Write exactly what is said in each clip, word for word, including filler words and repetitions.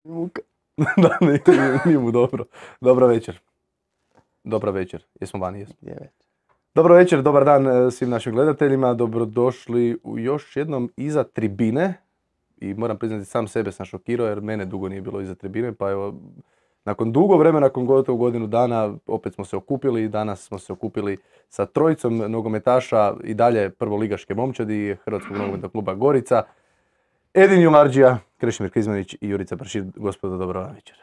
Muka. Da, nije, nije mu dobro. Dobra večer. Dobra večer. Jesmo vani, jesmo. Gdje već? Dobro večer, dobar dan eh, svim našim gledateljima. Dobrodošli u još jednom iza tribine. I moram priznati, sam sebe sam šokirao jer mene dugo nije bilo iza tribine. Pa evo, nakon dugo vremena, nakon gotovo godinu dana, opet smo se okupili. Danas smo se okupili sa trojicom nogometaša i dalje prvoligaške momčadi Hrvatskog nogometnog kluba Gorica. Edin Jumarđija, Krešimir Krizmanić i Jurica Pršir. Gospodo, dobro večer.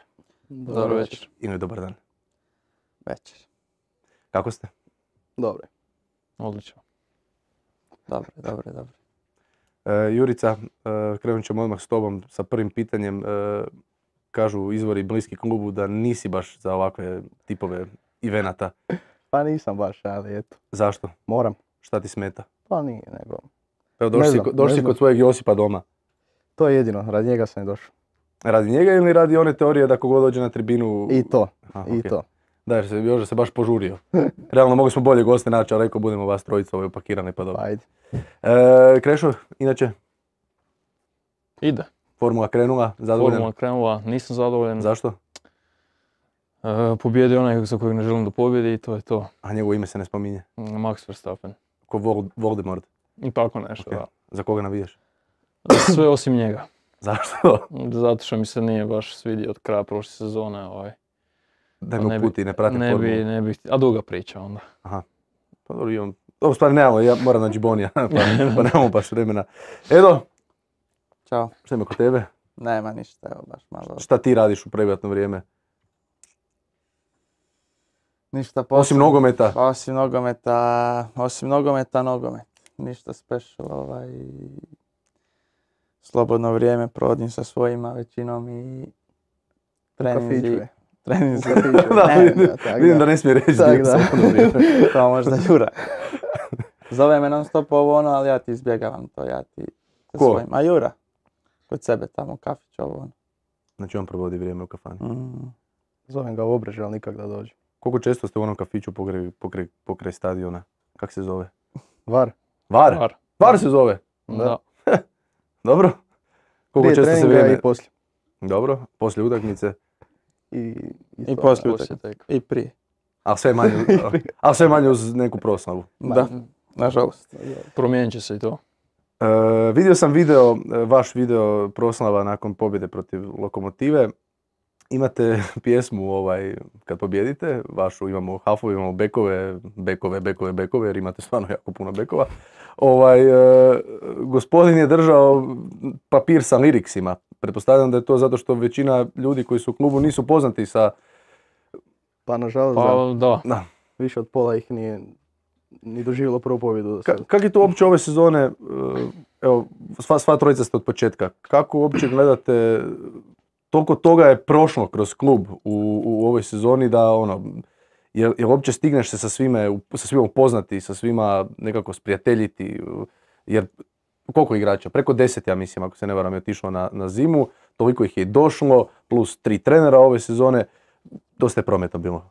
Dobro večer. I dobar dan. Večer. Kako ste? Dobro. Odlično. Dobro, dobro, dobro. E, Jurica, e, krenut ćemo odmah s tobom sa prvim pitanjem. E, kažu izvori bliski klubu da nisi baš za ovakve tipove evenata. Pa nisam baš, ali eto. Zašto? Moram. Šta ti smeta? Pa nije, nego. Evo, došli, Ne si, znam, ko- došli ne si znam. kod svojeg Josipa doma. To je jedino, radi njega sam i došao. Radi njega ili radi one teorije da kogod dođe na tribinu... I to, Aha, i okej. to. Da, jer se, još se baš požurio. Realno mogli smo bolje goste naći, ali rekao budemo vas trojica ovaj upakirani pa dobro. Pa ajde. E, Krešo, inače, Ide. formula krenula, zadovoljan? Formula krenula, nisam zadovoljan. Zašto? E, pobjedio onaj za kojeg ne želim da pobjedi i to je to. A njegovo ime se ne spominje. Mm, Max Verstappen. Ko Vol- Voldemort. I tako nešto, Ok. da. Za koga navijaš? Sve osim njega. Zašto? Zato što mi se nije baš svidio od kraja prošle sezone. Ovaj. Daj Pa me ne bi- uputi, ne pratim Ne formulu. bi, ne bi, a duga priča onda. Pa dobro, imam... Dobro, stvari nemamo, ja moram naći Bonija, pa, pa nemamo baš vremena. Edo, Ćao. šta ima kod tebe? Nema ništa, evo baš malo. Šta ti radiš u privatno vrijeme? Ništa posebno. Osim nogometa? Osim nogometa, osim nogometa, nogomet. Ništa special, ovaj. Slobodno vrijeme provodim sa svojima većinom i treninzi. kafiću je. Treninzi. Da, Ne, vidim, da, tak vidim da. da ne smije reći Tak dio da. slobodno vrijeme. To možda Jura. Zove me non stop ovo ono, ali ja ti izbjegavam to, ja ti sa Ko? svojim. A Jura, kod sebe tamo, kafić, ovo ono. Znači on provodi vrijeme u kafani. Mm. Zovem ga u Obrežje, ali nikak da dođe. Koliko često ste u onom kafiću pokraj, pokraj, pokraj stadiona? Kak se zove? Var. Var? Var. Var se zove? Da. Dobro. Koliko Prije često se treninga vrijeme... i poslije. Dobro, poslije utakmice. I, I to, poslije Poslije utakmice. tek. I prije. Ali sve manje, ali sve manje uz neku proslavu. Da, nažalost. Promijenit će se i to. E, vidio sam video, e, vaš video proslava nakon pobjede protiv Lokomotive. Imate pjesmu ovaj, kad pobjedite, vašu imamo hafove, imamo bekove, bekove, bekove, bekove, jer imate stvarno jako puno bekova. Ovaj, e, gospodin je držao papir sa liriksima. Pretpostavljam da je to zato što većina ljudi koji su u klubu nisu poznati sa... Pa nažalost, da, Pa da. Da. više od pola ih nije ni doživjelo prvu pobjedu do Ka, sada. kak je to uopće ove sezone, e, evo, sva, sva trojica ste od početka, kako uopće gledate, toliko toga je prošlo kroz klub u, u ovoj sezoni da ono, jel, jel uopće stigneš se sa svime, u- sa svima upoznati, sa svima nekako sprijateljiti, jer koliko igrača? Preko deset, ja mislim, ako se ne varam, je otišlo na, na zimu, toliko ih je i došlo, plus tri trenera ove sezone, dosta je prometa bilo.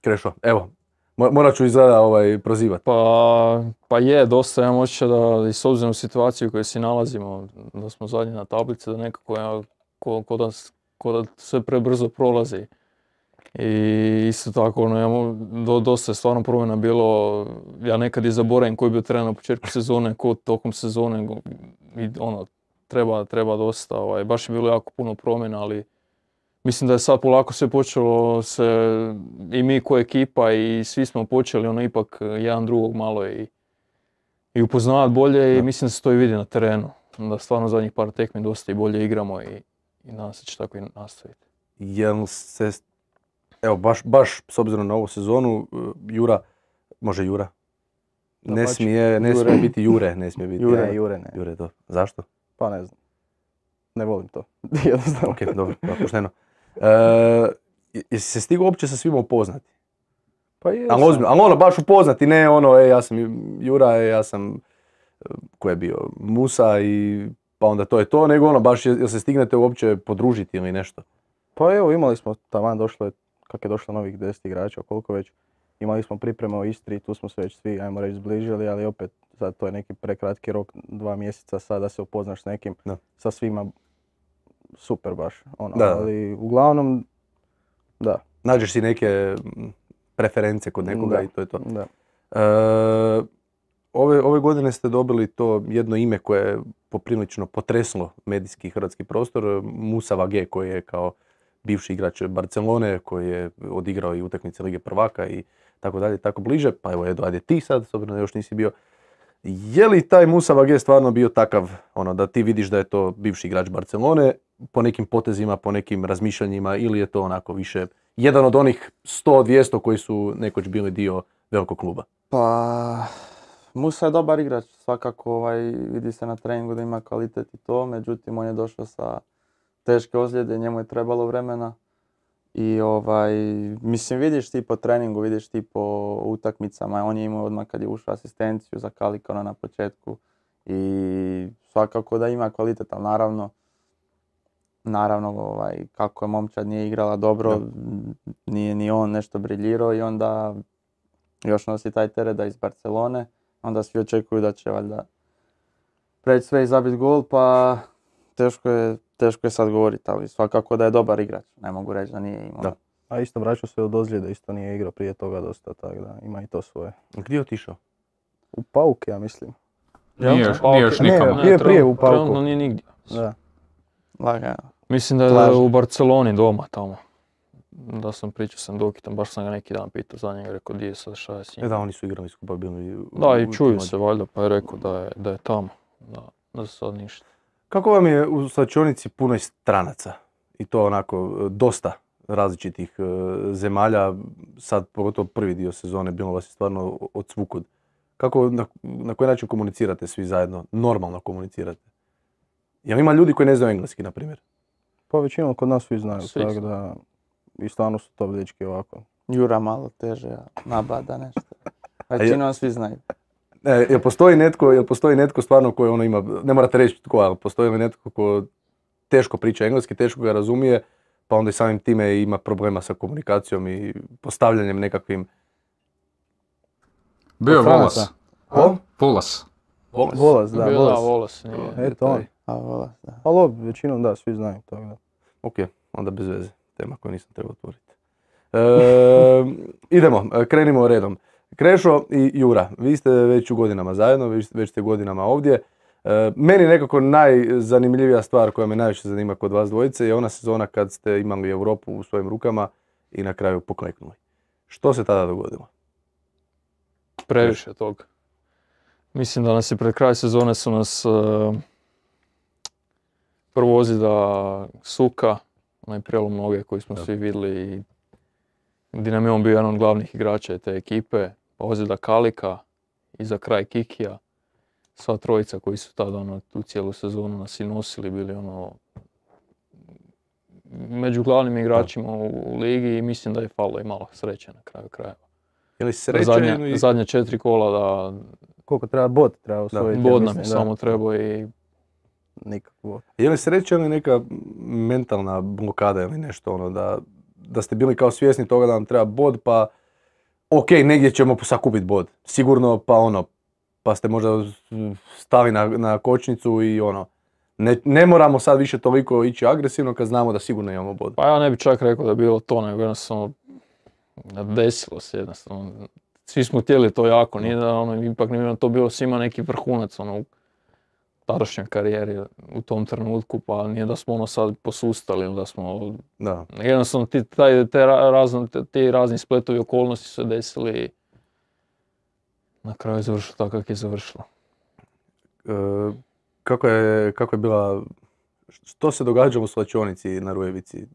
Krešo, evo, mo- morat ću izgleda ovaj, prozivati. Pa, pa je, dosta imam osjećaj da i s obzirom u situaciju u kojoj se nalazimo, da smo zadnji na tablici, da nekako ja, ko, ko, da, s- ko da sve prebrzo prolazi. I isto tako, ono, ja, mo- do, dosta je stvarno promjena bilo, ja nekad i zaboravim koji je bio trener na početku sezone, ko tokom sezone, go- i ono, treba, treba dosta, ovaj, baš je bilo jako puno promjena, ali mislim da je sad polako sve počelo se, i mi ko ekipa i svi smo počeli ono ipak jedan drugog malo i, i upoznavati bolje i Da. mislim da se to i vidi na terenu. Da stvarno zadnjih par tekmi dosta i bolje igramo i, i nadam se će tako i nastaviti. Jel se, evo baš, baš s obzirom na ovu sezonu, uh, Jura, može Jura? Ne Dapače. smije, ne Jure. smije biti Jure, ne smije biti. Jure, Jure ne. Jure, to. Zašto? Pa ne znam. Ne volim to. Jednostavno. Ok, dobro, pa, pošteno. E, jesi se stigao uopće sa svima upoznati? Pa je. Ali ozbiljno, ali ono baš upoznati, ne ono, e, ja sam Jura, e, ja sam, e, ko je bio, Musa i pa onda to je to, nego ono baš, jel jel se stignete uopće podružiti ili nešto? Pa evo, imali smo, taman došlo je, kak je došlo novih deset igrača, koliko već. Imali smo pripreme u Istri, tu smo se već svi, ajmo reći, zbližili, ali opet, sad to je neki prekratki rok, dva mjeseca sad da se upoznaš s nekim, Da. sa svima super baš. Ono, Da, da. ali uglavnom, da. Nađeš si neke mm, preference kod nekoga Da, i to je to. da. E, ove, ove godine ste dobili to jedno ime koje je poprilično potreslo medijski hrvatski prostor, Musa Vage, koji je kao bivši igrač Barcelone, koji je odigrao i utakmice Lige prvaka i tako dalje, tako bliže. Pa evo, Edo, ajde ti sad, s obzirom da još nisi bio. Je li taj Musa Vage stvarno bio takav, ono, da ti vidiš da je to bivši igrač Barcelone, po nekim potezima, po nekim razmišljanjima, ili je to onako više jedan od onih sto dvjesto koji su nekoć bili dio velikog kluba? Pa, Musa je dobar igrač, svakako ovaj, vidi se na treningu da ima kvalitet i to, međutim on je došao sa teške ozljede, njemu je trebalo vremena. I ovaj, mislim vidiš ti po treningu, vidiš ti po utakmicama, on je imao odmah kad je ušao asistenciju za Kalikona na početku i svakako da ima kvalitet, ali naravno, naravno ovaj, kako je momčad nije igrala dobro, Da. nije ni on nešto briljirao i onda još nosi taj teret da iz Barcelone, onda svi očekuju da će valjda preći sve i zabiti gol, pa teško je, teško je sad govoriti, ali svakako da je dobar igrač, ne mogu reći da nije imao. Da. A isto vraćao se od ozljede, isto nije igrao prije toga dosta, tako da ima i to svoje. Gdje je otišao? U Pauk, ja mislim. Jel? Nije još, Pa, nije ok. još Ne, nikamo. bio je prije u Pauku. Trenutno nije nigdje. Da. Lagano. Mislim da je Plaža. u Barceloni doma tamo. Da sam pričao sam Dokitom, baš sam ga neki dan pitao za njega, rekao di je sad, šta je s njim. E da, oni su igrali skupa bili. u- Da, i u- čuju u- se valjda, pa je rekao da je, da je tamo. Da, da sad ništa. Kako vam je u slačionici punoj stranaca? I to onako dosta različitih e, zemalja, sad pogotovo prvi dio sezone bilo vas je stvarno od svukud. Kako, na, na koji način komunicirate svi zajedno? Normalno komunicirate? Jel ima ljudi koji ne znaju engleski, na primjer? Pa većinom kod nas svi znaju, Svi tako znaju. da i stvarno su to dečki ovako. Jura malo teže, a nabada nešto. Većinom svi znaju. E, jel postoji netko, jel postoji netko stvarno koji ono ima, ne morate reći tko, ali postoji li netko ko teško priča engleski, teško ga razumije, pa onda i samim time ima problema sa komunikacijom i postavljanjem nekakvim... Bio je Od Volas. stranaca. Ko? Volas. Volas, da, Bio Volas. Da, Volas nije. Eto on. A vola, da. Ali ob, većinom da, svi znaju, tako da. Ok, onda bez veze, tema koju nisam trebao otvoriti. E, idemo, krenimo redom. Krešo i Jura, vi ste već u godinama zajedno, već, već ste godinama ovdje. E, meni nekako najzanimljivija stvar koja me najviše zanima kod vas dvojice je ona sezona kad ste imali Europu u svojim rukama i na kraju pokleknuli. Što se tada dogodilo? Previše tog. Mislim da nas je pred kraj sezone su nas uh, prvo ozljeda Suka, onaj prelom noge koji smo Da. svi vidjeli i gdje nam je on bio jedan od glavnih igrača te ekipe, pa ozljeda Kalika i za kraj Kikija. Sva trojica koji su tada ono, tu cijelu sezonu nas i nosili, bili ono među glavnim igračima u, u ligi i mislim da je falo i malo sreće na kraju krajeva. Je li sreća Zadnja, ili... zadnja četiri kola da Koliko treba bod, treba osvojiti. ja bod nam je mislim, da. samo trebao i Nikakvo. Je li sreća ili neka mentalna blokada ili nešto ono da, da ste bili kao svjesni toga da nam treba bod pa ok, negdje ćemo sakupiti bod, sigurno pa ono, pa ste možda stali na, na kočnicu i ono, ne, ne moramo sad više toliko ići agresivno kad znamo da sigurno imamo bod. pa ja ne bi čak rekao da je bilo to, nego jednostavno desilo se jednostavno. Svi smo htjeli to jako, nije da ono, ipak nije nam to bilo svima neki vrhunac ono, u tadašnjoj karijeri u tom trenutku, pa nije da smo ono sad posustali ili da smo, Da. jednostavno ti, taj, te, ra- razno, te, ti razni spletovi okolnosti su se desili i na kraju je završilo tako kako je završilo. E, kako, je, kako je bila, što se događalo u slačionici na Rujevici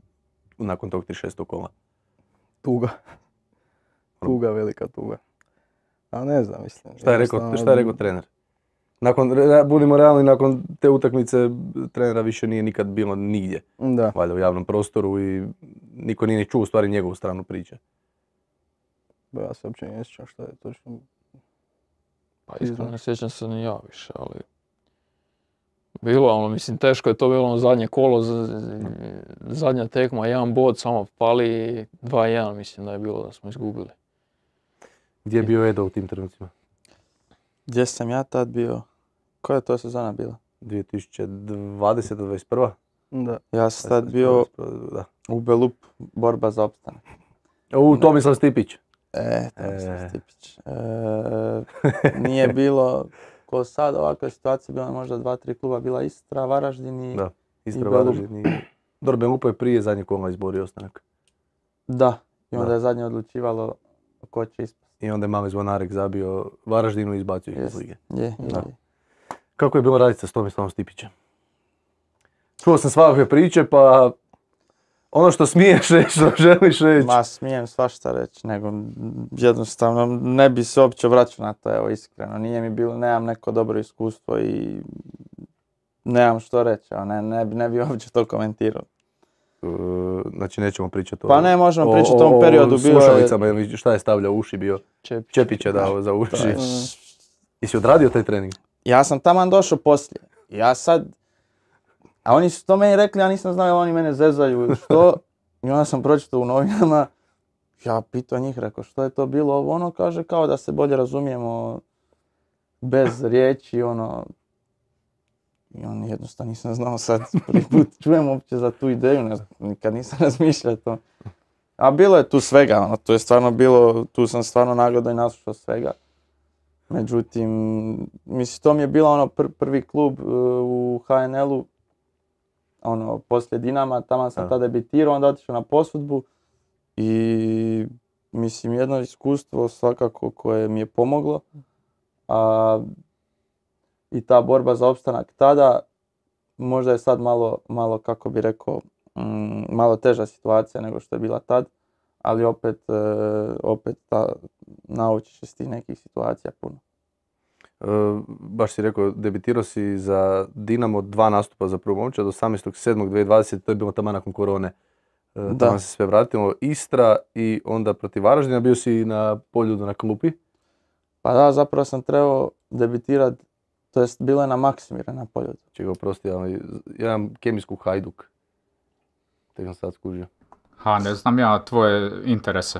nakon tog trideset šestog kola? Tuga. Tuga, velika tuga. A ne znam, mislim. Šta je rekao, jednostavno- šta je rekao trener? Nakon, re- budimo realni, nakon te utakmice trenera više nije nikad bilo nigdje, Da. valjda u javnom prostoru i niko nije ni čuo u stvari njegovu stranu priče. Ba, ja se uopće ne sjećam šta je točno. Pa iskreno ne sjećam se ni ja više, ali bilo ono, mislim teško je to bilo ono zadnje kolo, z- z- zadnja tekma, jedan bod, samo pali dva jedan, mislim da je bilo da smo izgubili. Gdje je bio Edo u tim trenucima? Gdje sam ja tad bio? Koja je to sezona bila? dvije tisuće dvadeseta dvadeset prva? Da. Ja sam tad bio Da. u Belup, borba za opstanak. U Tomislav Stipić. E, Tomislav E. Stipić. E, nije bilo, ko sad ovakva situacija, bila možda dva, tri kluba, bila Istra, Varaždin i... Da, Istra, i Belup. Varaždin i... Dobro, Belupa je prije zadnje kola izborio ostanak. Da, i onda Da. je zadnje odlučivalo ko će ispasti. I onda je mali zvonarek zabio Varaždinu i izbacio ih iz Jest. lige. Je, je, Da. je. Kako je bilo raditi sa Tomislavom Stipićem? Čuo sam svakakve priče, pa ono što smiješ reći, što želiš reći. Ma smijem svašta reći, nego jednostavno ne bi se uopće vraćao na to, evo iskreno. Nije mi bilo, nemam neko dobro iskustvo i nemam što reći, evo, ne, ne, bi- ne bi uopće to komentirao. Uh, znači nećemo pričati o... Pa ne, možemo pričati o tom periodu, bilo je- slušalicama ili šta je stavljao u uši bio? Čepić. Čepića dao za To uši. je- Jesi odradio taj trening? Ja sam taman došao poslije. Ja sad... A oni su to meni rekli, ja nisam znao, oni mene zezaju ili što. I onda sam pročitao u novinama. Ja pitao njih, rekao, što je to bilo ovo? Ono kaže kao da se bolje razumijemo bez riječi, ono... I on jednostavno nisam znao sad, prvi put čujem uopće za tu ideju, ne znam, nikad nisam razmišljao to. A bilo je tu svega, ono, to je stvarno bilo, tu sam stvarno nagledao i naslušao svega. Međutim, mislim, to mi je bilo ono pr- prvi klub uh, u ha en el-u, ono, poslije Dinama, tamo sam Da. tada debitirao, onda otišao na posudbu i mislim, jedno iskustvo svakako koje mi je pomoglo, a i ta borba za opstanak tada, možda je sad malo, malo kako bi rekao, mm, malo teža situacija nego što je bila tad, ali opet, e, opet ta, naučiš se s tih nekih situacija puno. Uh, baš si rekao, debitirao si za Dinamo dva nastupa za prvu momčad, osamnaestog sedmog dvije tisuće dvadesete. To je bilo tamo nakon korone. Uh, Da. Tamo se sve vratilo. Istra i onda protiv Varaždina, bio si na Poljudu na klupi. Pa da, zapravo sam trebao debitirat, to jest bilo je na Maksimira na Poljudu. Čega oprosti, ali ja imam kemijsku Hajduk. Tek sam sad skužio. Ha, ne znam ja tvoje interese.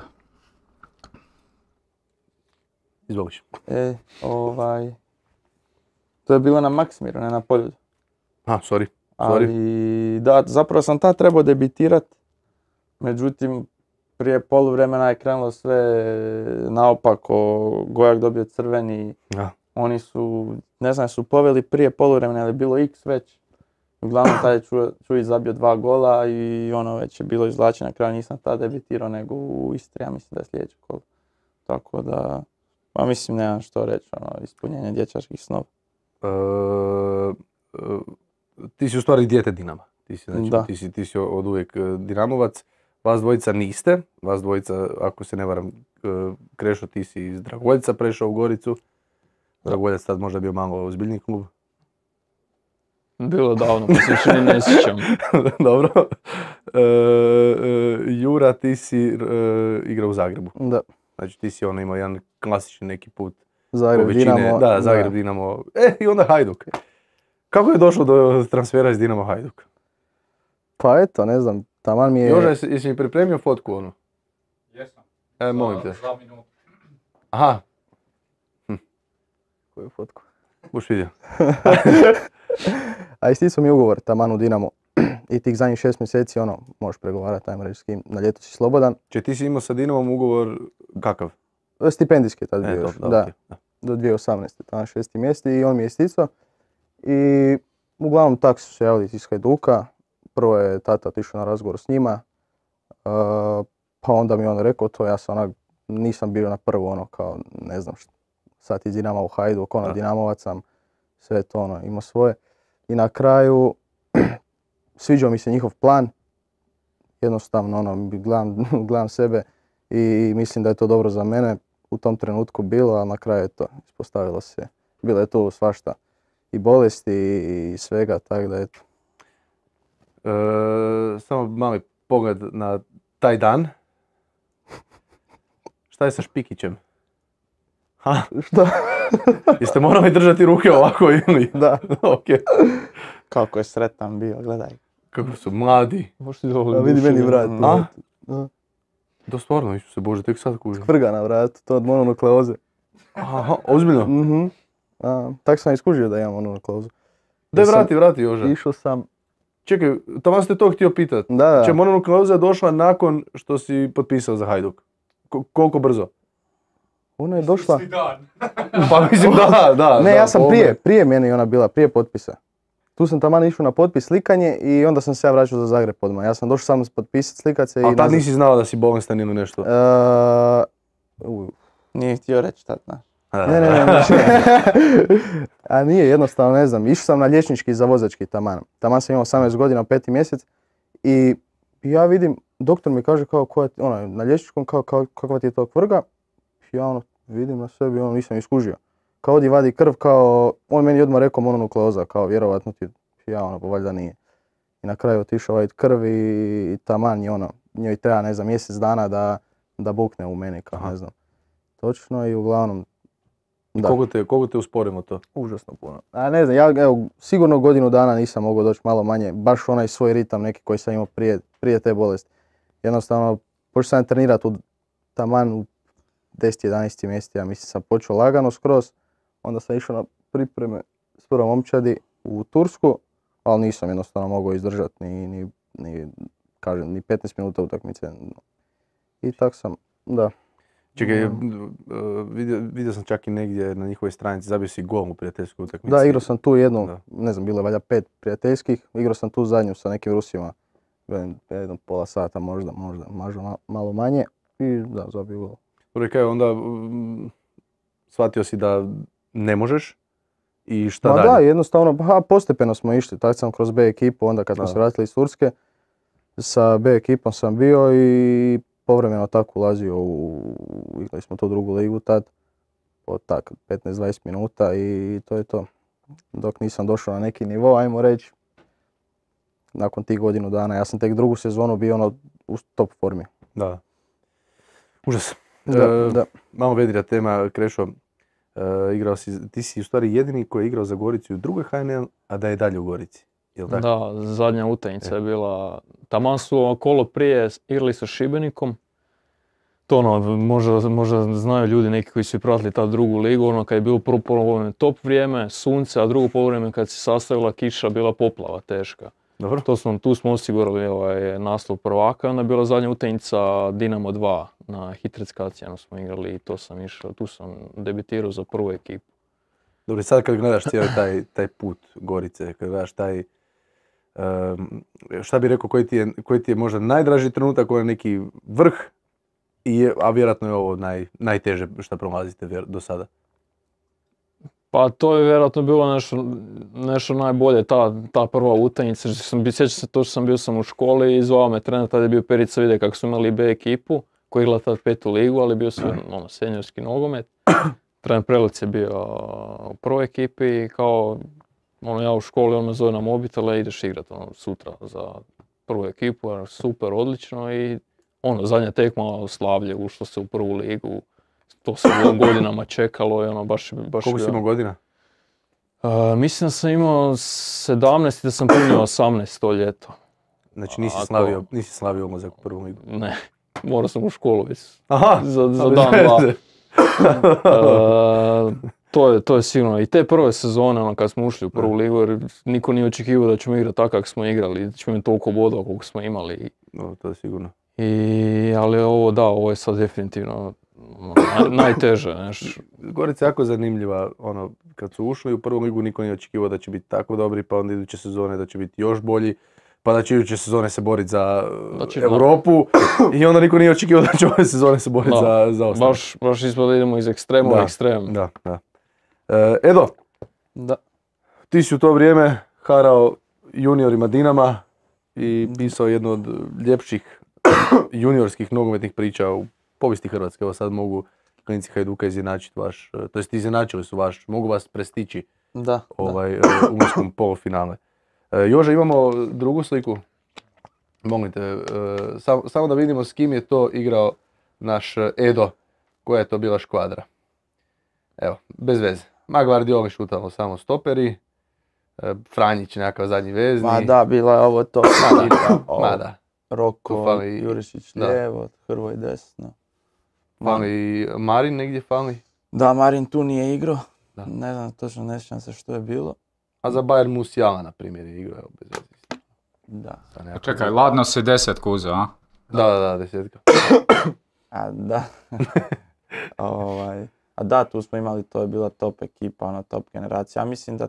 Izvoliš. E, ovaj, to je bilo na Maksimiru, ne na Poljudu. A, sorry. Sorry. Ali da, zapravo sam tad trebao debitirat, međutim prije poluvremena je krenulo sve naopako, Gojak dobio crveni, Da. oni su, ne znam, su poveli prije poluvremena, ali je bilo X već. Uglavnom taj je Ču- Čujić zabio dva gola i ono već je bilo izvlačenje, na kraju nisam tad debitirao nego u Istri, ja mislim da je sljedeće kolo. Tako da, pa mislim nemam što reći, ono, ispunjenje dječačkih snova. E, e, ti si u stvari dijete Dinama. Ti si, znači, Da. ti si, ti si od uvijek e, Dinamovac. Vas dvojica niste. Vas dvojica, ako se ne varam, e, Krešo, ti si iz Dragoljca prešao u Goricu. Dragoljac tad možda bio malo ozbiljniji klub. Bilo davno, pa se više ni ne sjećam. Dobro. E, e, Jura, ti si e, igrao u Zagrebu. Da. Znači ti si ono imao jedan klasični neki put. Zagreb, po većine- Dinamo. Da, Zagreb, Dinamo. E, i onda Hajduk. Kako je došlo do transfera iz Dinamo Hajduk? Pa eto, ne znam, taman mi je... Joža, jesi, jesi mi pripremio fotku onu? Jesam. E, molim te. Za minutu. Aha, Koju fotku? buš vidio. A isticao mi je ugovor taman u Dinamo. I tih zadnjih šest mjeseci, ono, možeš pregovarati, ajmo reći s kim, na ljeto si slobodan. Če ti si imao sa Dinamom ugovor kakav? Stipendijski je tad bio E, još, dobro, da, okej, da. do dvije tisuće osamnaeste, tamo šesti mjesec i on mi je isticao. I uglavnom tak su se javili iz Hajduka. Prvo je tata otišao na razgovor s njima, uh, pa onda mi je on rekao to, ja sam onak, nisam bio na prvo ono kao, ne znam što, sad iz Dinama u Hajduk, ono, Da. Dinamovac sam, sve to ono, imao svoje. I na kraju, sviđao mi se njihov plan, jednostavno ono, gledam, gledam sebe i mislim da je to dobro za mene. U tom trenutku bilo, a na kraju je to ispostavilo se. Bilo je tu svašta i bolesti i svega, tako da eto. E, samo mali pogled na taj dan. Šta je sa Špikićem? Ha, Što? jeste morali držati ruke ovako ili? Da. Ok. Kako je sretan bio, gledaj. Kako su mladi. Možeš ti dobro A vidi meni vrat. A? Da. Da stvarno, Isuse Bože, tek sad kužim. Vrga na vratu, to od mononukleoze. Aha, ozbiljno? Mhm. A, tak sam iskužio da imam mononukleozu. Daj sam- vrati, vrati Joža. Išao sam čekaj, tamo ste to htio pitat. Da, da. Znači, Mononu Klauza je došla nakon što si potpisao za Hajduk. Ko- koliko brzo? Ona je došla... Pa mislim da, da. Ne, da, ja sam po prije, ovome. prije meni ona bila, prije potpisa. Tu sam taman išao na potpis slikanje i onda sam se ja vraćao za Zagreb odmah. Ja sam došao samo potpisat, slikat se i... Ali tad nazad. nisi znao da si bolestan ili nešto? E, u, Nije htio reći tad, znaš. Ne, ne, ne, ne. A nije, jednostavno ne znam. Išao sam na liječnički za vozački taman. Taman sam imao osamnaest godina, peti mjesec i ja vidim, doktor mi kaže kao, koja, ono, na liječničkom kao, kao kakva ti je to kvrga. Ja ono, vidim na sebi, ono, nisam iskužio. Kao odi vadi krv, kao, on meni odmah rekao mononukleoza, kao vjerovatno ti, ja ono, pa valjda nije. I na kraju otišao vadit krv i, i taman je ono, njoj treba, ne znam, mjesec dana da, da bukne u meni, kao, Aha. ne znam. Točno i uglavnom, da. Koliko te, koliko te usporimo to? Užasno puno. A ne znam, ja evo, sigurno godinu dana nisam mogao doći malo manje, baš onaj svoj ritam neki koji sam imao prije, prije te bolesti. Jednostavno, počeo sam trenirati u taman u deset jedanaest mjeseci, ja mislim sam počeo lagano skroz, onda sam išao na pripreme s prvom momčadi u Tursku, ali nisam jednostavno mogao izdržati ni, ni, ni, kažem, ni petnaest minuta utakmice. I tak sam, da. Čekaj, Mm. uh, vidio, vidio sam čak i negdje na njihovoj stranici, zabio si gol u prijateljskoj utakmici. Da, igrao sam tu jednu, Da. ne znam, bilo je valjda pet prijateljskih, igrao sam tu zadnju sa nekim Rusima, velim, jedno pola sata možda, možda, možda ma- malo manje i da, zabio gol. Dobro, kaj, onda um, shvatio si da ne možeš i šta Ma dalje? da, jednostavno, ha, postepeno smo išli, tako sam kroz B ekipu, onda kad smo Da. se vratili iz Turske, sa B ekipom sam bio i povremeno tako ulazio u, igrali smo tu drugu ligu tad, po tak petnaest dvadeset minuta i to je to. Dok nisam došao na neki nivo, ajmo reći, nakon tih godinu dana, ja sam tek drugu sezonu bio ono u top formi. Da. Užas. Da, E, da. Malo vedrija tema, Krešo. E, igrao si, ti si u stvari jedini koji je igrao za Goricu u drugoj H N L, a da je dalje u Gorici. Jel tako? Da, zadnja utakmica je bila, taman su kolo prije igrali sa Šibenikom. To ono, možda, možda znaju ljudi neki koji su pratili ta drugu ligu, ono kad je bilo prvo polovreme top vrijeme, sunce, a drugo polovreme kad se sastavila kiša bila poplava teška. Dobro. To smo, tu smo osigurali ovaj naslov prvaka, onda je bila zadnja utakmica Dinamo dva na Hitreckacijanu smo igrali i to sam išao, tu sam debitirao za prvu ekipu. Dobro, i sad kad gledaš cijeli taj, taj put Gorice, kad gledaš taj, um, šta bi rekao, koji ti, je, koji ti je možda najdraži trenutak, koji je neki vrh, i je, a vjerojatno je ovo naj, najteže što prolazite vjer- do sada. Pa to je vjerojatno bilo nešto, nešto najbolje, ta, ta prva utakmica. Sjećam se to što sam bio sam u školi i zvao me trener, tada je bio Perica Vide kako su imali B ekipu, koji je igrala tad petu ligu, ali bio su ono, seniorski nogomet. Trener Prelic je bio u prvoj ekipi i kao ono, ja u školi, on me zove na mobitel, ideš igrat ono, sutra za prvu ekipu, ono, super, odlično i ono, zadnja tekma slavlje, ušlo se u prvu ligu. To se godinama čekalo i ono baš... baš Koliko si bio- imao godina? Uh, mislim da sam imao sedamnaest i da sam punio osamnaest to ljeto. Znači nisi Ako- slavio, nisi slavio ulazak u prvu ligu. Ne, morao sam u školu već Aha, za, za ali dan bez dva. veze. Uh, to, je, to je sigurno. I te prve sezone, ono, kad smo ušli u prvu ligu, jer niko nije očekivao da ćemo igrati tako kako smo igrali, da ćemo imati toliko bodova koliko smo imali. No, to je sigurno. I, ali ovo, da, ovo je sad definitivno ono, naj, najteže, znaš. Gorica je jako zanimljiva, ono, kad su ušli u prvu ligu niko nije očekivao da će biti tako dobri, pa onda iduće sezone da će biti još bolji, pa da će iduće sezone se boriti za Da će- Europu i onda niko nije očekivao da će ove sezone se boriti Da, za, za ostanak. Baš, baš ispada da idemo iz ekstrema u Da, ekstrem. Da, da. E, Edo, Da. ti si u to vrijeme harao juniorima Dinama i pisao jednu od ljepših juniorskih nogometnih priča u povijesti Hrvatske. Evo sad mogu klinici Hajduka izjednačiti vaš, to jest izjednačili su vaš, mogu vas prestići Da, da. ovaj, e, u umiskom polufinale. E, Jože, imamo drugu sliku. Molim te, e, sam- samo da vidimo s kim je to igrao naš Edo, koja je to bila škvadra. Evo, bez veze. Magvardioli šutamo samo stoperi, e, Franjić nekakav zadnji vezni. Ma da, bila je ovo to. Ma I da, da, ovo, ma da. Roko, Tu fali- Jurišić da. lijevo, Hrvoj desno. Fali Marin negdje fali, Da, Marin tu nije igrao. Da. Ne znam, točno ne sjećam se što je bilo. a za Bayern Musiala, na primjer, je igrao, evo, bez veze. Da. Sa nekako- Čekaj, ladno si desetku uzeo, a? Da, da, da, desetka. A da. ovaj, a da, tu smo imali, to je bila top ekipa, ono, top generacija. Ja mislim da